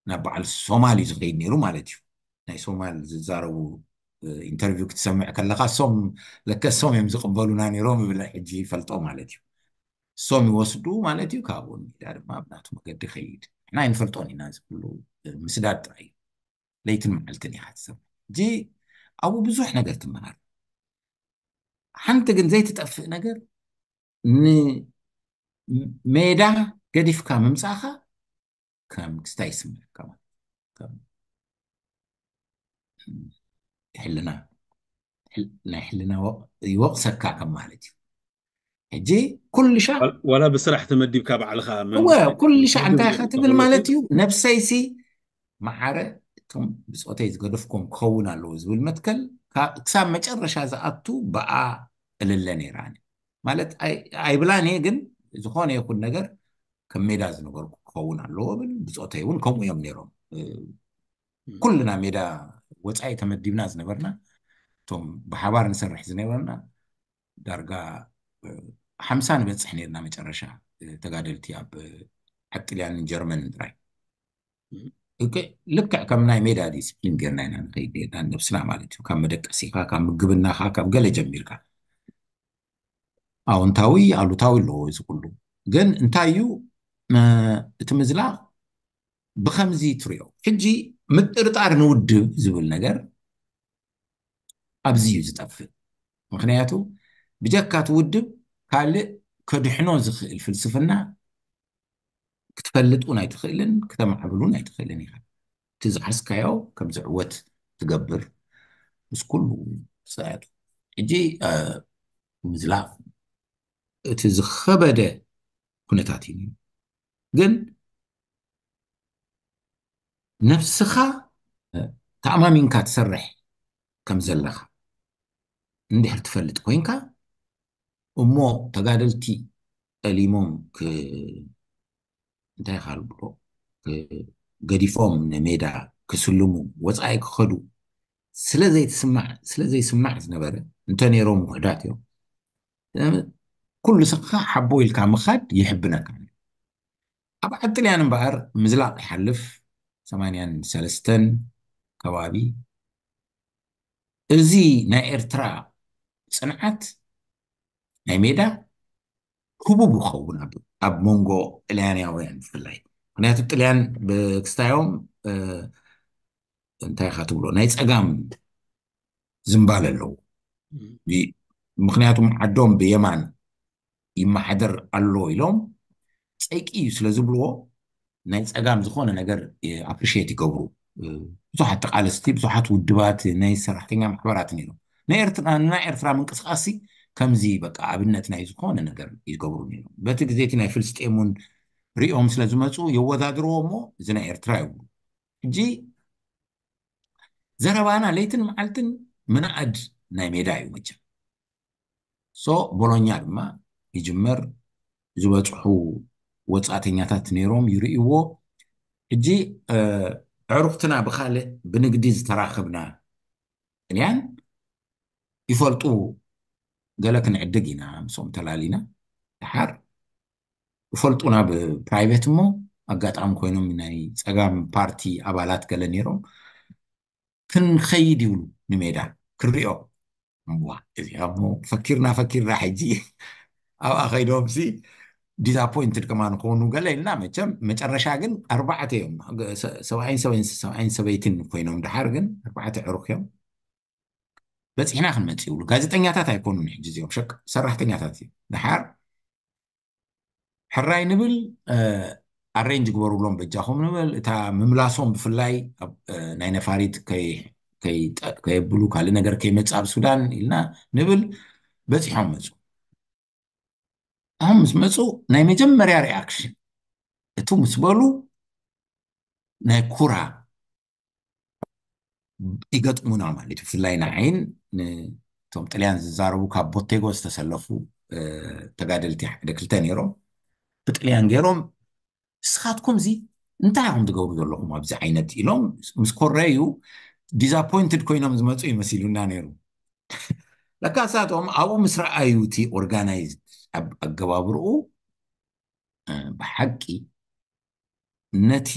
ናብ በዓል ሶማል እዩ ዝኸይድ ነይሩ ማለት እዩ። ናይ ሶማል ዝዛረቡ ኢንተርቪው ክትሰምዕ ከለካ፣ እሶም ለከ እሶም እዮም ዝቕበሉና ነይሮም ይብል፣ ሕጂ ይፈልጦ ማለት እዩ። እሶም ይወስዱ ማለት እዩ። ካብኡ ንዳ ድማ ኣብ ናቱ መገዲ ከይድ። ንሕና ኣይንፈልጦን ኢና፣ እዚ ኩሉ ምስዳድ ጥራይ እዩ። ለይትን መዓልትን ኢኻ ትሰምዕ። ሕጂ ኣብኡ ብዙሕ ነገር ትመሃር። ሓንቲ ግን ዘይትጠፍእ ነገር፣ ንሜዳ ገዲፍካ ምምፃእኻ ከም ክስታይ ይስምዐካ ማለት እዩ። ከም ሕልና፣ ሕል-፣ ናይ ሕልና ወቕ-፣ ይወቕሰካ ከም ማለት እዩ። ሕጂ ኩሉ ሻዕ ወላ ብስራሕ ተመዲብካ ባዕልኻ መን-፣ እወ፣ ኩሉ ሻዕ እንታይ ኢኻ ትብል ማለት እዩ? ነብሰይሲ መዓረ እቶም ብፆተይ ዝገደፍኩም ክኸውን ኣለዎ ዝብል መትከል ካ-፣ ክሳብ መጨረሻ ዝኣቱ ብኣ እልለ ነይራ። ኣነ ማለት ኣይ-፣ ኣይብላን እየ፣ ግን ዝኾነ ይኹን ነገር ከም ሜዳ ዝነበርኩ ክኸውን ኣለዎ ብል። ብፆተይ እውን ከምኡ እዮም ነይሮም። እ፣ ም። ኩልና ሜዳ ወፃኢ ተመዲብና ዝነበርና፣ እቶም ብሓባር ንሰርሕ ዝነበርና ዳርጋ፣ እ፣ ሓምሳ ንበፅሕ ነይርና መጨረሻ፣ እ፣ ተጋደልቲ ኣብ፣ እ፣ ዓዲ ጥልያንን ጀርመንን ጥራይ። ም። እከ-፣ ልክዕ ከም ናይ ሜዳ ዲስፕሊን ጌርና ኢና ንኸይድ ነይርና፣ ነብስና ማለት እዩ። ካብ መደቀሲኻ፣ ካብ ምግብናኻ፣ ካብ ገለ ጀሚርካ። ኣዎንታዊ፣ ኣሉታዊ ኣለዎ እዚ ኩሉ። ግን እንታይ እዩ፣ እ፣ እቲ ምዝላቕ ብኸምዚ ትሪኦ። ሕጂ ምጥርጣር ንውድብ ዝብል ነገር ኣብዚ እዩ ዝጠፍእ። ምኽንያቱ ብጀካ እቲ ውድብ ካልእ ከድሕኖ ዝኽእል ፍልስፍና ክትፈልጥ እውን ኣይትኽእልን፣ ክተማዕብል እውን ኣይትኽእልን ኢኻ። እቲ ዝሓዝካዮ ከም ዝዕወት ትገብር ምስ ኩሉ ስያቱ። ሕጂ፣ እ፣ ምዝላፍ እቲ ዝኸበደ ኩነታት እዩ። ግን ነብስኻ ተኣማሚንካ ትሰርሕ ከም ዘለኻ እንድሕር ትፈልጥ ኮይንካ፣ እሞ ተጋደልቲ ጠሊሞም ክ- እንታይ ካልብሎ ገዲፎም ንሜዳ ክስልሙ ወፃኢ ክኸዱ ስለ ዘይትስማዕ ስለ ዘይስማዕ ዝነበረ፣ እንተ ነይሮም ውሕዳት እዮም። ኩሉ ስኻ ሓቦ ኢልካ ምኻድ ይሕብነካ። ኣብ ዓዲ ጥልያን እምበኣር ምዝላቕ ይሓልፍ ሰማንያን ሰለስተን ከባቢ። እዚ ናይ ኤርትራ ፅንዓት ናይ ሜዳ ህቡብ ይኸውን ኣብ መንጎ ጥልያናውያን ብፍላይ። ምክንያቱ ጥልያን ብክስታዮም እንታይ ኢኻ ትብሎ ናይ ፀጋም ዝንባለ ኣለዎ። ምክንያቱም ዓዶም ብየማን ይመሓደር ኣሎ ኢሎም ፀይቂ እዩ ስለ ዝብልዎ ናይ ፀጋም ዝኾነ ነገር ኣፕሪሽት ይገብሩ። ብዙሓት ተቃለስቲ፣ ብዙሓት ውድባት ናይ ሰራሕተኛ ማሕበራት ነይሮም። ናይ ኤርትራ ምንቅስቃስ ከምዚ በቃ ኣብነት ናይ ዝኾነ ነገር ይገብሩ ነይሮም። በቲ ግዜ እቲ ናይ ፍልስጤም እውን ሪኦም ስለ ዝመፁ የወዳድርዎ እሞ እዚ ናይ ኤርትራ ይብሉ። ሕጂ ዘረባና ለይትን መዓልትን ምንኣድ ናይ ሜዳ እዩ መቸም። ሶ ቦሎኛ ድማ ይጅመር። ዝበፅሑ ወፃእተኛታት ነይሮም ይርእይዎ። ሕጂ ኣዕሩኽትና ብካልእ ብንግዲ ዝተራኸብና ጥልያን ይፈልጡ። ገለ ክንዕድግ ኢና ምስኦም ተላሊና። ድሓር ይፈልጡና ብፕራይቬት እሞ ኣጋጣሚ ኮይኖም ናይ ፀጋም ፓርቲ ኣባላት ገለ ነይሮም ክንኸይድ ይብሉ ንሜዳ ክሪኦ። እዚኣ ፈኪርና ፈኪርና ሕጂ ኣብኣ ከይዶም ሲ ዲዛፖይንትድ ከማን ክኾኑ ገለ ኢልና መቸም መጨረሻ ግን ኣርባዕተ እዮም። ሰብኣይን ሰበይትን ኮይኖም ድሓር ግን ኣርባዕተ ዕሩኽ እዮም። በፂሕና ክንመፅ ይብሉ። ጋዜጠኛታት ኣይኮኑን ሕጂ እዚኦም ሸቅ ሰራሕተኛታት እዮም። ድሓር ሕራይ ንብል ኣሬንጅ ግበሩሎም በጃኹም ንብል። እታ ምምላሶም ብፍላይ ናይ ነፋሪት ከየብሉ ካልእ ነገር ከይመፅእ ኣብ ሱዳን ኢልና ንብል። በፂሖም መፁ። ኣሁን ምስ መፁ ናይ መጀመርያ ሪኣክሽን እቱ ምስ በሉ ናይ ኩራ ይገጥሙና ማለት እዩ። ብፍላይ ንዓይን ንቶም ጥልያን ዝዛረቡ ካብ ቦቴጎ ዝተሰለፉ ተጋደልቲ ሓደ ክልተ ነይሮም። ብጥልያን ገይሮም ንስኻትኩም እዚ እንታይ ኢኹም ትገብሩ ዘለኹም ኣብዚ ዓይነት ኢሎም ምስ ኮረዩ ዲዛፖይንትድ ኮይኖም ዝመፁ ይመሲሉና ነይሩ። ለካ እሳቶም ኣብኡ ምስ ረኣዩ እቲ ኦርጋናይዝ ኣገባብርኡ ብሓቂ ነቲ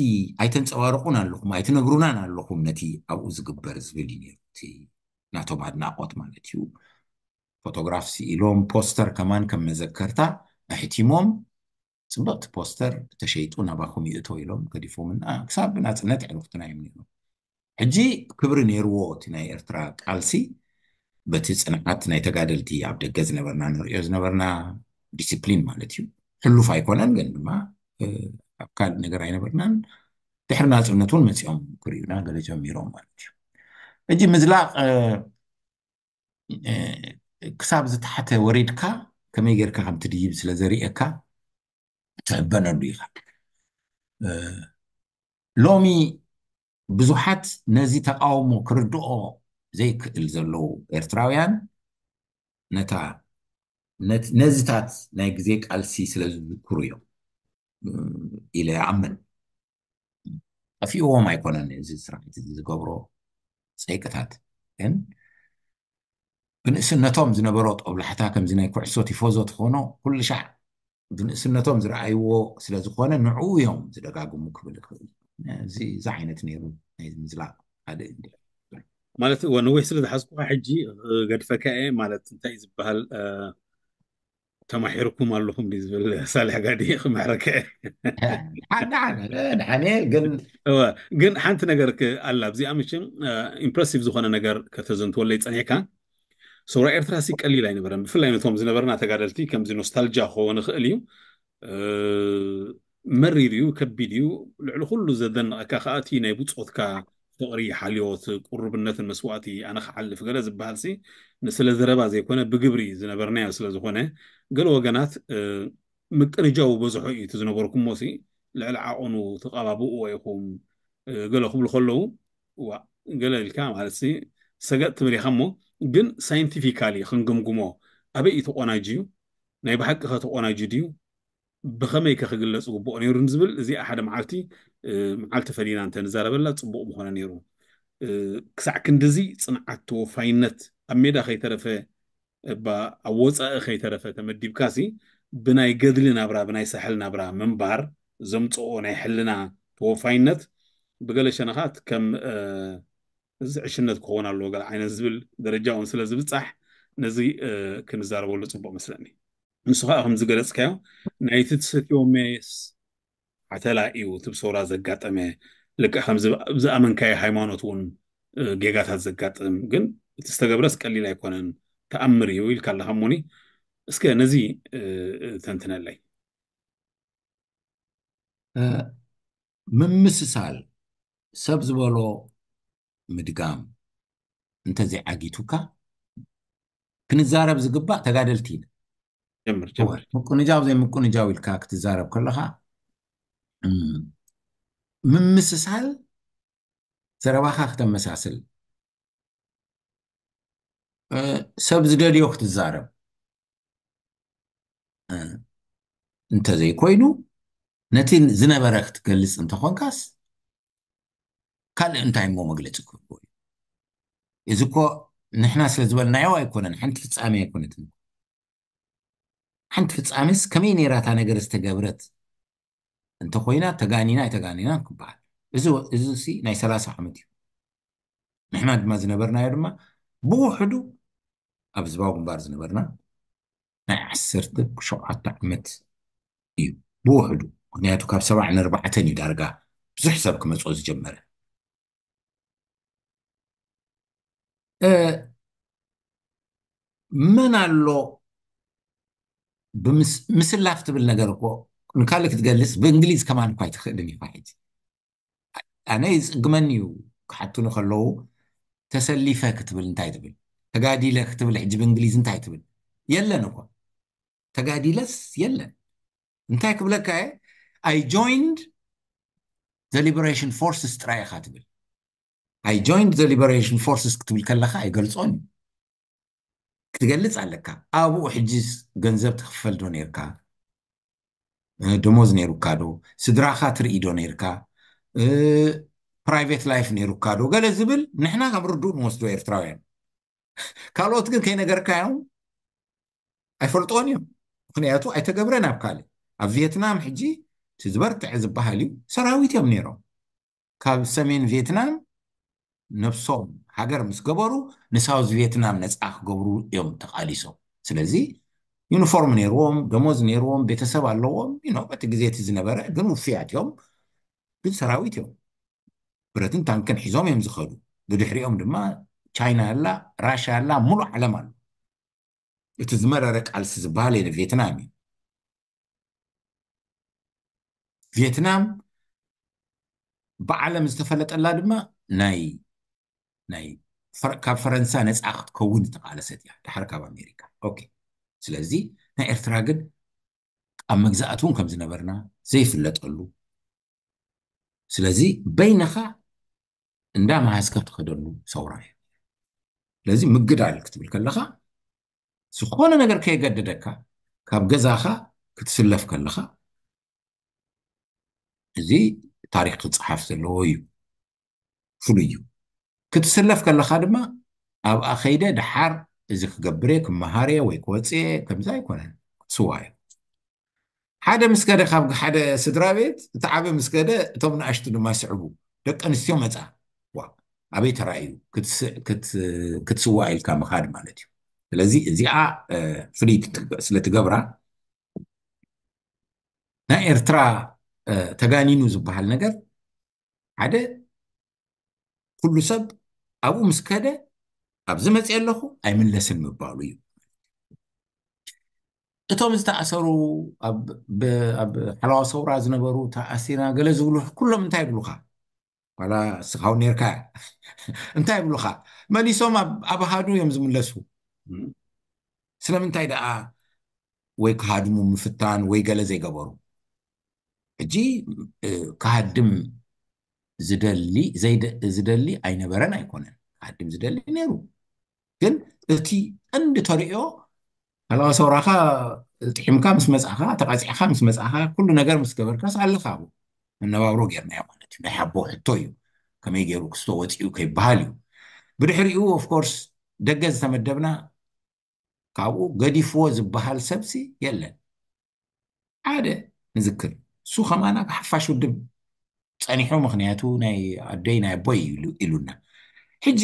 ኣይተንፀባርቑን ኣለኹም ኣይትነግሩናን ኣለኹም ነቲ ኣብኡ ዝግበር ዝብል እዩ ነይሩ። እቲ ናቶም ኣድናቆት ማለት እዩ። ፎቶግራፍ ስኢሎም ፖስተር ከማን ከም መዘከርታ ኣሕቲሞም ፅብቕቲ ፖስተር ተሸይጡ ናባኹም ይእቶ ኢሎም ገዲፎምና ክሳብ ብናፅነት ዕሩኽትና እዮም ነይሮም። ሕጂ ክብሪ ነይርዎ እቲ ናይ ኤርትራ ቃልሲ በቲ ፅንዓት ናይ ተጋደልቲ ኣብ ደገ ዝነበርና ንሪኦ ዝነበርና ዲስፕሊን ማለት እዩ። ሕሉፍ ኣይኮነን ግን ድማ ኣብ ካልእ ነገር ኣይነበርናን። ድሕሪ ናፅነት እውን መፂኦም ክርእዩና ገለ ጀሚሮም ማለት እዩ። ሕጂ ምዝላቕ ክሳብ ዝተሓተ ወሪድካ ከመይ ጌርካ ከም ትድይብ ስለ ዘርእየካ ትሕበነሉ ኢኻ። ሎሚ ብዙሓት ነዚ ተቃውሞ ክርድኦ ዘይክእል ዘለዉ ኤርትራውያን ነታ ነዚታት ናይ ግዜ ቃልሲ ስለ ዝዝክሩ እዮም ኢለ ይኣምን። ጠፊእዎም ኣይኮነን እዚ ስርዓት እዚ ዝገብሮ ፀይቅታት ግን ብንእስነቶም ዝነበሮ ጦብላሕታ ከምዚ ናይ ኩዕሶ ቲፎዞ ትኾኖ ኩሉ ሻዕ ብንእስነቶም ዝረኣይዎ ስለ ዝኾነ ንዕኡ እዮም ዝደጋግሙ ክብል ይኽእል። እዚ ዓይነት ነይሩ ናይ ምዝላቕ ካልእ እንዲ ማለት እወ ነዊሕ ስለ ዝሓዝኩካ ሕጂ ገድፈካ እየ ማለት እንታይ ዝበሃል ተማሒርኩም ኣለኹም ድዩ ዝብል ሳልሕ ጋዲ ክምሕረከ ሓዳሓነ ግን እወ ግን ሓንቲ ነገር ኣላ ኣብዚኣ ምሽም ኢምፕረሲቭ ዝኾነ ነገር ከተዘንትወለይ ፀኒሕካ ሰውራ ኤርትራ ሲ ቀሊል ኣይነበረን ብፍላይ ነቶም ዝነበርና ተጋደልቲ ከምዚ ኖስታልጃ ክኸውን ይኽእል እዩ መሪር እዩ ከቢድ እዩ ልዕሊ ኩሉ ዘደንቐካ ከኣቲ ናይ ብፆትካ ፍቕሪ ሓልዮት ቁርብነትን መስዋእቲ ኣነ ክሓልፍ ገለ ዝበሃል ሲ ንስለ ዘረባ ዘይኮነ ብግብሪ ዝነበርናዮ ስለ ዝኾነ ገለ ወገናት ምቅንጃው በዝሖ እዩ እቲ ዝነበርኩሞ ሲ ልዕሊ ዓቐኑ ተቐባብእዎ ኢኹም ገለ ክብሉ ከለዉ ዋ ገለ ኢልካ ማለት ሲ ሰገጥ ትብል ኢኻ እሞ ግን ሳይንቲፊካሊ ክንግምግሞ ኣበይ እዩ ተቆናጅዩ ናይ ብሓቂ ከ ተቆናጅዩ ድዩ ብኸመይ ከ ክግለጽ ግብኦ ነይሩ ንዝብል እዚኣ ሓደ መዓልቲ መዓልቲ ፈሊና እንተ ንዛረበላ ጽቡቕ ምኾነ ነይሩ። ክሳዕ ክንድዚ ጽንዓት ተወፋይነት ኣብ ሜዳ ከይተረፈ እባ ኣብ ወጻኢ ከይተረፈ ተመዲብካሲ ብናይ ገድሊ ናብራ ብናይ ሳሕል ናብራ ምንባር ዘምጽኦ ናይ ሕልና ተወፋይነት ብገለ ሸነኻት ከም እዚ ዕሽነት ክኸውን ኣለዎ ገለ ዓይነት ዝብል ደረጃ እውን ስለ ዝብጻሕ ነዚ ክንዛረበሉ ጽቡቕ መስለኒ። ንሱ ከዓ ከም ዝገለጽካዮ ናይቲ ትሰትዮ ሜስ ሓተላ እዩ እቲ ብሰውራ ዘጋጠመ ልክዕ ከም ዝኣመንካዮ ሃይማኖት እውን ጌጋታት ዘጋጥም ግን እቲ ዝተገብረስ ቀሊል ኣይኮነን ተኣምር እዩ ኢልካ ኣለካ እሞኒ እስከ ነዚ ተንትነለይ ምምስሳል ሰብ ዝበሎ ምድጋም እንተዘይዓጊቱካ ክንዛረብ ዝግባእ ተጋደልቲ ኢና ጀምር ጀምር ምቁንጃው ዘይምቁንጃው ኢልካ ክትዛረብ ከለካ ምምስሳል ዘረባካ ክተመሳስል ሰብ ዝደልዮ ክትዛረብ እንተዘይኮይኑ ነቲ ዝነበረ ክትገልፅ እንተኾንካስ ካልእ እንታይ እሞ መግለፂ ክህልዎ እዩ እዚ እኮ ንሕና ስለ ዝበልናዮ ኣይኮነን ሓንቲ ፍፃሜ ኣይኮነትን ሓንቲ ፍፃሜስ ከመይ ነይራ እታ ነገር ዝተገብረት እንተኮይና ተጋኒና ኣይተጋኒናን ክበሃል እዚ እዚ ሲ ናይ ሰላሳ ዓመት እዩ ንሕና ድማ ዝነበርናዮ ድማ ብውሕዱ ኣብ ህዝባዊ ግንባር ዝነበርና ናይ ዓሰርተ ሸውዓተ ዓመት እዩ ብውሕዱ ምክንያቱ ካብ ሰብዓ ንርባዕተን እዩ ዳርጋ ብዙሕ ሰብ ክመፅኦ ዝጀመረ መን ኣሎ ምስላፍ ትብል ነገር እኮ ንካልእ ክትገልፅ ብእንግሊዝ ከማን እኳ ኣይትኽእልን ኢኻ ሕጂ ኣነ ይፅግመኒ እዩ ክሓቱኒ ከለዉ ተሰሊፈ ክትብል እንታይ ትብል ተጋዲለ ክትብል ሕጂ ብእንግሊዝ እንታይ ትብል የለን እኮ ተጋዲለስ የለን እንታይ ክብለካ እየ I joined the liberation forces ጥራይ ኢኻ ትብል I joined the liberation forces ክትብል ከለካ ኣይገልፆን እዩ ክትገልፅ ኣለካ ኣብኡ ሕጂ ገንዘብ ትክፈል ዶ ነርካ ደሞዝ ነይሩካ ዶ ስድራካ ትርኢ ዶ ነርካ private life ነይሩካ ዶ ገለ ዝብል ንሕና ከም ርዱእ ንወስዶ ኤርትራውያን ካልኦት ግን ከይነገርካዮም ኣይፈልጥዎን እዮም ምክንያቱ ኣይተገብረን ኣብ ካልእ ኣብ ቪየትናም ሕጂ እቲ ዝበርትዐ ዝበሃል እዩ ሰራዊት እዮም ነይሮም ካብ ሰሜን ቪየትናም ነብሶም ሃገር ምስ ገበሩ ንሳውዝ ቪየትናም ነፃ ክገብሩ እዮም ተቃሊሶም ስለዚ ዩኒፎርም ነይርዎም ደሞዝ ነይርዎም ቤተሰብ ኣለዎም ዩ በቲ ግዜ እቲ ዝነበረ ግን ውፍያት እዮም ግን ሰራዊት እዮም ብረትን ታንክን ሒዞም እዮም ዝኸዱ ብድሕሪኦም ድማ ቻይና ኣላ ራሽያ ኣላ ሙሉእ ዓለም ኣሎ እቲ ዝመረረ ቃልሲ ዝበሃል የለ ቬትናም እዩ ቬትናም ብዓለም ዝተፈለጠላ ድማ ናይ ናይ ካብ ፈረንሳ ነፃ ክትከውን ዝተቃለሰት እያ ድሓር ካብ ኣሜሪካ ኦኬ ስለዚ ናይ ኤርትራ ግን ኣብ መግዛእቲ እውን ከም ዝነበርና ዘይፍለጠሉ ስለዚ በይንኻ እንዳ መሃዝካ ትኸደሉ ሰውራ እዩ ስለዚ ምግዳል ክትብል ከለኻ ዝኾነ ነገር ከየገደደካ ካብ ገዛኻ ክትስለፍ ከለኻ እዚ ታሪክ ክፀሓፍ ዘለዎ እዩ ፍሉይ እዩ ክትስለፍ ከለካ ድማ ኣብኣ ከይደ ድሓር እዚ ክገብር እየ ክመሃር እየ ወይ ክወፅእ እየ ከምዚ ኣይኮነን ክትስዋ እየ ሓደ ምስ ከደ ካብ ሓደ ስድራ ቤት እቲ ዓበ ምስ ከደ እቶም ንኣሽቱ ድማ ይስዕቡ ደቂ ኣንስትዮ መፃ ዋ ኣበይ ተራእዩ ክትስዋ ኢልካ ምካድ ማለት እዩ ስለዚ እዚኣ ፍልይቲ ስለትገብራ ናይ ኤርትራ ተጋኒኑ ዝበሃል ነገር ሓደ ኩሉ ሰብ ኣብኡ ምስ ከደ ኣብዚ መፅእ ኣለኹ ኣይምለስን ምባሉ እዩ እቶም ዝተኣሰሩ ኣብ ሓለዋ ሰውራ ዝነበሩ ተኣሲርና ገለ ዝብሉ ኩሎም እንታይ ይብሉካ ዋላ እስኻ እውን ነርካ እንታይ ይብሉኻ? መሊሶም ኣብ ኣሃዱ እዮም ዝምለሱ። ስለምንታይ ደኣ ወይ ክሃድሙ ምፍታን ወይ ገለ ዘይገበሩ? ሕጂ ክሃድም ዝደሊ ኣይነበረን ኣይኮነን። ክሃድም ዝደሊ ነይሩ። ግን እቲ ቀንዲ ተርእዮ ኣለዋ ሰውራኻ ጥሒምካ ምስ መጻኻ፣ ተቐጺዕካ ምስ መጻኻ፣ ኩሉ ነገር ምስ ገበርካስ ኣለኻ ኣብኡ። መነባብሮ ጌርናዮ ማለት እዩ። ናይ ሓቦ ሕቶ እዩ። ከመይ ገይሩ ክስቶ ወጺኡ ከይበሃል እዩ። ብድሕሪኡ ኦፍኮርስ ደገ ዝተመደብና ካብኡ ገዲፍዎ ዝበሃል ሰብሲ የለን። ሓደ ንዝክር፣ እሱ ከማና ሓፋሽ ውድብ ጸኒሑ፣ ምኽንያቱ ናይ ኣደይ ናይ ኣቦይ ኢሉና። ሕጂ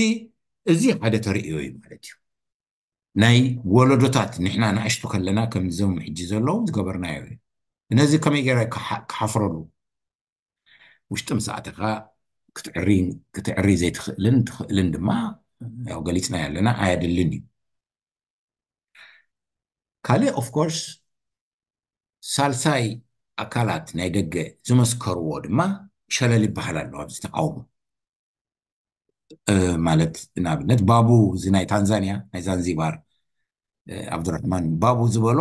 እዚ ሓደ ተርእዮ እዩ ማለት እዩ። ናይ ወለዶታት ንሕና ንኣሽቱ ከለና ከምዞም ሕጂ ዘለዉ ዝገበርናዮ እዩ። ነዚ ከመይ ገይረ ክሓፍረሉ? ውሽጢ ምስ ኣተኻ ክትዕሪ ዘይትኽእልን ትኽእልን ድማ ያው ገሊፅና ያለና ኣየድልን እዩ። ካልእ ኦፍኮርስ ሳልሳይ ኣካላት ናይ ደገ ዝመስከርዎ ድማ ሸለል ይበሃል ኣሎ ኣብዚ ተቃውሞ። ማለት ንኣብነት ባቡ እዚ ናይ ታንዛንያ ናይ ዛንዚባር ኣብዱራሕማን ባቡ ዝበሎ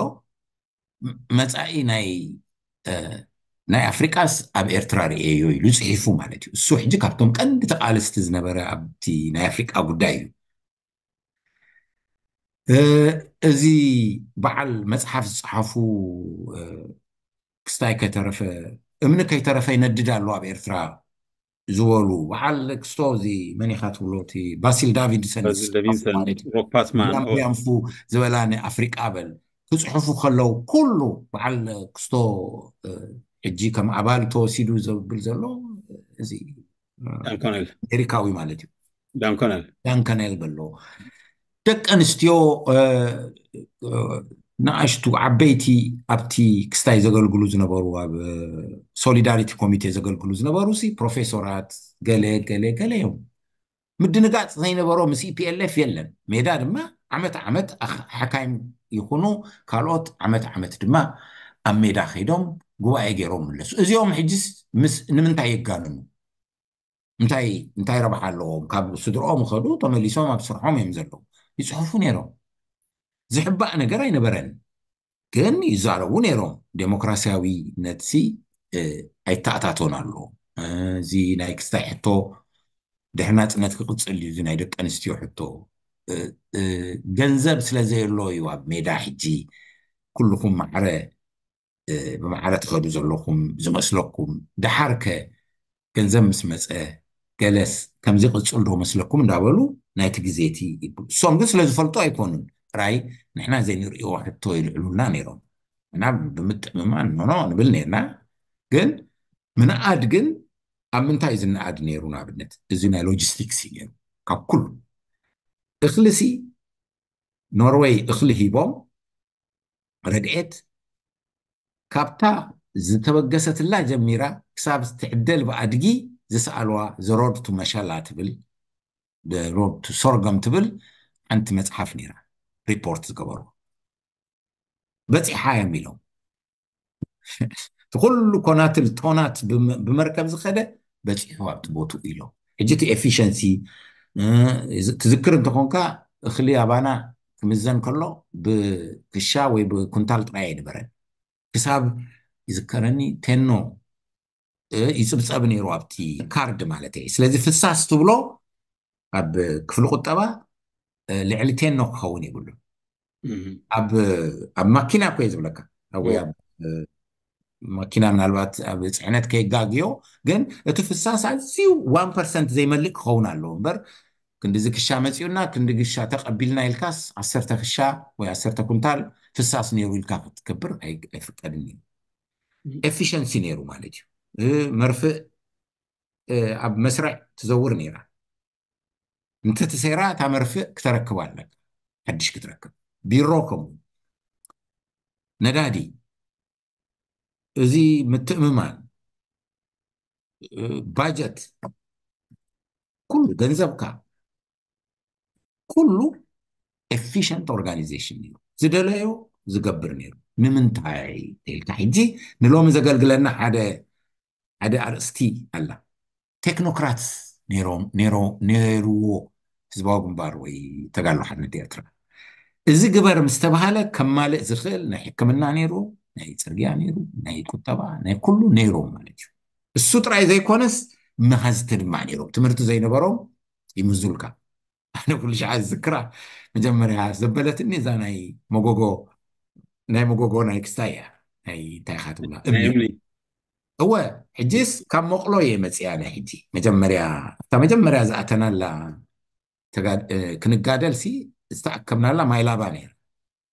መፃኢ ናይ ናይ ኣፍሪቃስ ኣብ ኤርትራ ርእየዮ ኢሉ ፅሒፉ ማለት እዩ። እሱ ሕጂ ካብቶም ቀንዲ ተቃለስቲ ዝነበረ ኣብቲ ናይ ኣፍሪቃ ጉዳይ እዩ። እዚ በዓል መፅሓፍ ዝፀሓፉ ክስታይ ከይተረፈ እምኒ ከይተረፈ ይነድድ ኣሎ ኣብ ኤርትራ ዝበሉ በዓል ክስቶ እዚ መን ኢኻ ትብሎ እቲ ባሲል ዳቪድሰን ሮክፓስማን ፉ ዝበላ ንኣፍሪቃ በል ክፅሕፉ ከለው ኩሉ በዓል ክስቶ ሕጂ ከም ኣባል ተወሲዱ ዘብል ዘሎ እዚ ዳንኮነል ኣሜሪካዊ ማለት እዩ። ዳንኮነል ዳንከነል በሎ ደቂ ኣንስትዮ ንኣሽቱ ዓበይቲ ኣብቲ ክስታይ ዘገልግሉ ዝነበሩ ኣብ ሶሊዳሪቲ ኮሚቴ ዘገልግሉ ዝነበሩ ሲ ፕሮፌሶራት ገለ ገለ ገለ እዮም። ምድንጋፅ ዘይነበሮ ምስ ኢፒኤልኤፍ የለን። ሜዳ ድማ ዓመት ዓመት ሓካይም ይኹኑ ካልኦት ዓመት ዓመት ድማ ኣብ ሜዳ ከይዶም ጉባኤ ገይሮም ምለሱ። እዚኦም ሕጅስ ምስ ንምንታይ የጋንኑ? እንታይ እንታይ ረብሓ ኣለዎም? ካብ ስድርኦም ኸዱ ተመሊሶም ኣብ ስርሖም እዮም ዘለዉ። ይፅሕፉ ነይሮም። ዝሕባእ ነገር ኣይነበረን። ግን ይዛረቡ ነይሮም። ዴሞክራሲያዊ ነትሲ ኣይተኣታቶን ኣሎ። እዚ ናይ ክስታይ ሕቶ ድሕሪ ናፅነት ክቕፅል እዩ። እዚ ናይ ደቂ ኣንስትዮ ሕቶ ገንዘብ ስለ ዘየሎ እዩ ኣብ ሜዳ ሕጂ ኩልኹም ማዕረ ብማዕረ ትኸዱ ዘለኹም ዝመስለኩም። ደሓርከ ገንዘብ ምስ መፀ ገለስ ከምዚ ቅፅል ዶ መስለኩም እንዳበሉ ናይቲ ግዜቲ ይብሉ። እሶም ግን ስለ ዝፈልጡ ኣይኮኑን። ጥራይ ንሕና ዘይንርእዮ ሕቶ ይልዕሉልና ነይሮም። እና ብምጥምማን ኖኖ ንብል ነርና። ግን ምንኣድ ግን ኣብ ምንታይ ዝነኣድ ነይሩ? ንኣብነት እዚ ናይ ሎጂስቲክስ እዩ ነይሩ። ካብ ኩሉ እኽልሲ ኖርወይ እኽሊ ሂቦም ረድኤት ካብታ ዝተበገሰትላ ጀሚራ ክሳብ ትዕደል ብኣድጊ ዝሰኣልዋ ዘሮድ ቱ መሸላ ትብል ዘሮድ ቱ ሶርገም ትብል ሓንቲ መፅሓፍ ነይራ ሪፖርት ዝገበሩ በፂሓ እዮም ኢሎም። እቲ ኩሉ ኮናትል ቶናት ብመርከብ ዝኸደ በፂሑ ኣብቲ ቦትኡ ኢሎም። ሕጂ እቲ ኤፊሸንሲ ትዝክር እንተኾንካ እኽሊ ኣባና ክምዘን ከሎ ብክሻ ወይ ብኩንታል ጥራይ ኣይነበረን። ክሳብ ይዝከረኒ ቴኖ ይፅብፀብ ነይሩ ኣብቲ ካርድ ማለት እዩ። ስለዚ ፍሳስ ትብሎ ኣብ ክፍሊ ቁጠባ ልዕሊ ቴኖ ክኸውን የብሉን። ኣብ ማኪና እኮ እየ ዝብለካ ወይ ኣብ ማኪና ምናልባት ኣብ ፅዕነት ከየጋግዮ ግን እቲ ፍሳስ ኣዝዩ ዋን ፐርሰንት ዘይመልእ ክኸውን ኣለዎ እምበር ክንዲዚ ክሻ መፂኡና ክንዲ ክሻ ተቐቢልና ኢልካስ ዓሰርተ ክሻ ወይ ዓሰርተ ኩንታል ፍሳስ ነይሩ ኢልካ ክትገብር ኣይፍቀድን እዩ። ኤፊሸንሲ ነይሩ ማለት እዩ። መርፍእ ኣብ መስርዕ ትዘውር ነይራ። እንተተሰይራ እታ መርፍእ ክተረክብ ኣለካ። ሓድሽ ክትረክብ ቢሮ ከምኡ ነዳዲ እዚ ምትእምማን ባጀት ኩሉ ገንዘብካ ኩሉ ኤፊሽንት ኦርጋናይዜሽን ነይሩ። ዝደለዮ ዝገብር ነይሩ። ንምንታይ ኢልካ ሕጂ ንሎሚ ዘገልግለና ሓደ ሓደ ኣርእስቲ ኣላ። ቴክኖክራት ነይርዎ ህዝባዊ ግንባር ወይ ተጋድሎ ሓርነት ኤርትራ። እዚ ግበር ምስ ተባሃለ ከማልእ ዝኽእል ናይ ሕክምና ነይሩ፣ ናይ ፅርግያ ነይሩ፣ ናይ ቁጠባ፣ ናይ ኩሉ ነይሮም ማለት እዩ። እሱ ጥራይ ዘይኮነስ መሃዝቲ ድማ ነይሮም። ትምህርቲ ዘይነበሮም ይምዙልካ። ኣነ ኩሉ ሻዓ ዝዝክራ መጀመርያ ዘበለትኒ እዛ ናይ መጎጎ ናይ መጎጎ ናይ ክስታይ እያ። ናይ እንታይ ኢኻ ትብላ? እምኒ። እወ፣ ሕጂስ ካብ መቕሎ እየ መፅያ። ናይ ሕጂ መጀመርያ እታ መጀመርያ ዝኣተናላ ክንጋደል ሲ ዝተኣከብናላ ማይላባ ነይራ።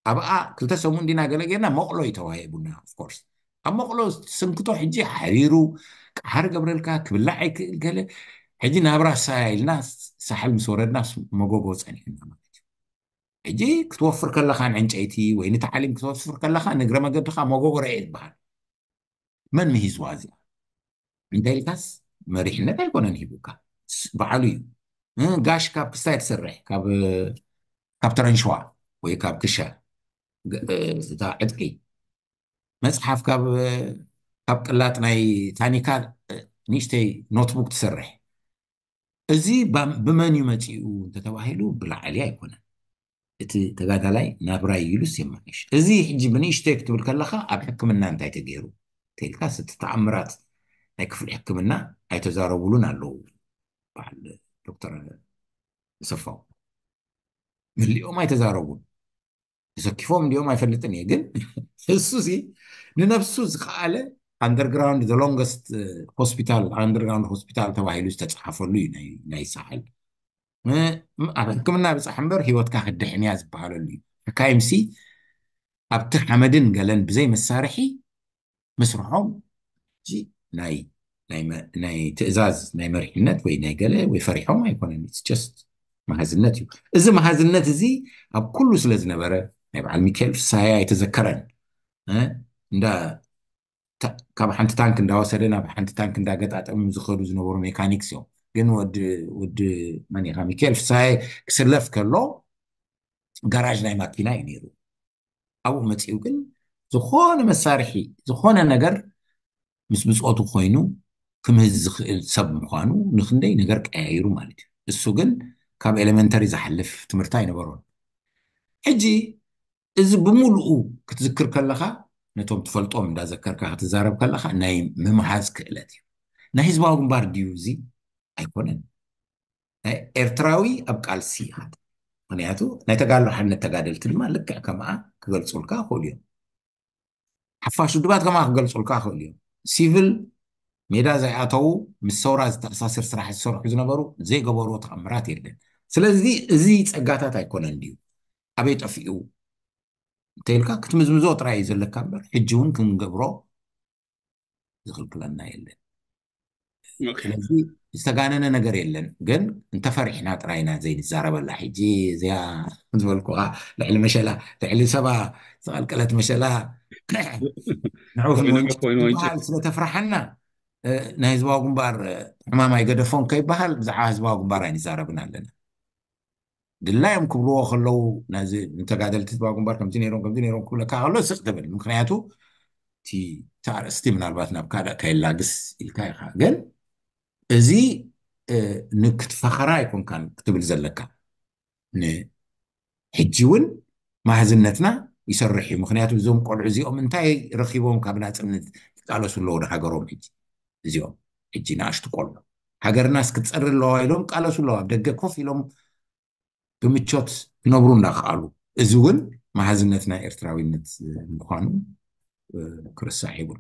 ኣብኣ ክልተ ሰሙን ዲና ገለ ጌርና መቕሎ እዩ ተዋሂቡና። ኦፍኮርስ ኣብ መቕሎ ስንክቶ ሕጂ ሓሪሩ ቃሓር ገብረልካ ክብላዕ ኣይክእል ገለ። ሕጂ ናብራ ሳያ ኢልና ሳሕል ምስ ወረድና መጎጎ ፀኒሕና ማለት እዩ። ሕጂ ክትወፍር ከለኻ ንዕንጨይቲ ወይ ንታዕሊም ክትወፍር ከለኻ ንግረ መገድኻ መጎጎ ረኤ ዝበሃል መን ምሂዝዋ እዚኣ እንተ ኢልካስ መሪሕነት ኣይኮነን ሂቡካ፣ ባዕሉ እዩ። ጋሽ ካብ ክስታይ ትሰርሕ ካብ ተረንሸዋ ወይ ካብ ክሻ እታ ዕጥቂ፣ መፅሓፍ ካብ ቅላጥ ናይ ታኒካ ንእሽተይ ኖትቡክ ትሰርሕ። እዚ ብመን እዩ መፂኡ እንተተባሂሉ ብላዕሊ ኣይኮነን። እቲ ተጋዳላይ ናብራይ ኢሉስ የማይሽ። እዚ ሕጂ ብንእሽተይ ክትብል ከለኻ ኣብ ሕክምና እንታይ ተገይሩ ተልካስ እቲ ተኣምራት ናይ ክፍሊ ሕክምና ኣይተዛረቡሉን ኣለዉ። በዓል ዶክተር ሰፋው መሊኦም ኣይተዛረቡን። ተሰኪፎም እንዲኦም ኣይፈልጥን እየ፣ ግን እሱ ሲ ንነብሱ ዝኸኣለ underground the longest hospital underground hospital ተባሂሉ ዝተፅሓፈሉ እዩ ናይ ሳሕል። ኣብ ሕክምና ብፃሕ እምበር ህይወትካ ክድሕን እያ ዝበሃለሉ እዩ። ሕካይምሲ ኣብቲ ሓመድን ገለን ብዘይ መሳርሒ ምስርሖም ናይ ትእዛዝ ናይ መሪሕነት ወይ ናይ ገለ ወይ ፈሪሖም ኣይኮነን። ስ መሃዝነት እዩ። እዚ መሃዝነት እዚ ኣብ ኩሉ ስለ ዝነበረ ናይ በዓል ሚካኤል ፍሳሃ ኣይተዘከረን። እንዳ ካብ ሓንቲ ታንክ እንዳወሰደ ናብ ሓንቲ ታንክ እንዳገጣጠሙ ዝኸዱ ዝነበሩ ሜካኒክስ እዮም። ግን ወዲ መኒኻ ሚካኤል ፍሳሃ ክስለፍ ከሎ ጋራዥ ናይ ማኪና እዩ ነይሩ። ኣብኡ መፂኡ ግን ዝኾነ መሳርሒ ዝኾነ ነገር ምስ ብፆቱ ኮይኑ ክምህዝ ዝኽእል ሰብ ምዃኑ ንክንደይ ነገር ቀያይሩ ማለት እዩ። እሱ ግን ካብ ኤሌመንተሪ ዝሓልፍ ትምህርቲ ኣይነበሮን። ሕጂ እዚ ብምሉኡ ክትዝክር ከለኻ ነቶም ትፈልጦም እንዳዘከርካ ክትዛረብ ከለኻ ናይ ምምሃዝ ክእለት እዩ። ናይ ህዝባዊ ግንባር ድዩ እዚ? ኣይኮነን። ኤርትራዊ ኣብ ቃልሲ ይሃት። ምክንያቱ ናይ ተጋድሎ ሓርነት ተጋደልቲ ድማ ልክዕ ከምኣ ክገልፁልካ ይኽእሉ እዮም። ሓፋሽ ውድባት ከምኣ ክገልፁልካ ይኽእሉ እዮም። ሲቪል ሜዳ ዘይኣተዉ ምስ ሰውራ ዝተኣሳስር ስራሕ ዝሰርሑ ዝነበሩ ዘይገበርዎ ተኣምራት የለን። ስለዚ እዚ ፀጋታት ኣይኮነን ድዩ ኣበይ ጠፊኡ እንተኢልካ ክትምዝምዞ ጥራይ እዩ ዘለካ እምበር ሕጂ እውን ክንገብሮ ዝኽልክለና የለን። ስለዚ ዝተጋነነ ነገር የለን፣ ግን እንተፈሪሕና ጥራይና ዘይንዛረበላ። ሕጂ እዚኣ ዝበልኩኻ ልዕሊ መሸላ ልዕሊ ሰባ ዝቐልቀለት መሸላ ንዑ ክትበሃል ስለተፍርሓና ናይ ህዝባዊ ግንባር ሕማም ኣይገደፎን ከይበሃል ብዛዕባ ህዝባዊ ግንባር ኣይንዛረብን ኣለና። ድላዮም ክብልዎ ከለዉ ነዚ ንተጋደልቲ ህዝባዊ ግንባር ከምዚ ነይሮም ከምዚ ነይሮም ክብለካ ከሎ ስቕ ትብል። ምክንያቱ እቲ ኣርእስቲ ምናልባት ናብ ካልእ ከየላግስ ኢልካ ኢኻ። ግን እዚ ንክትፈኸራ ኣይኮንካን ክትብል ዘለካ። ንሕጂ እውን ማህዝነትና ይሰርሕ እዩ። ምክንያቱ እዞም ቆልዑ እዚኦም እንታይ ረኪቦም ካብ ናፅነት ይቃለሱ ኣለዉ ንሃገሮም? ሕጂ እዚኦም ሕጂ ንኣሽቱ ቆልዑ ሃገርናስ ክትፀሪ ኣለዋ ኢሎም ቃለሱ ኣለዉ። ኣብ ደገ ኮፍ ኢሎም ብምቾት ክነብሩ እንዳከኣሉ፣ እዚ እውን መሃዝነት ናይ ኤርትራዊነት ምዃኑ ክርስዕ ይብሉ።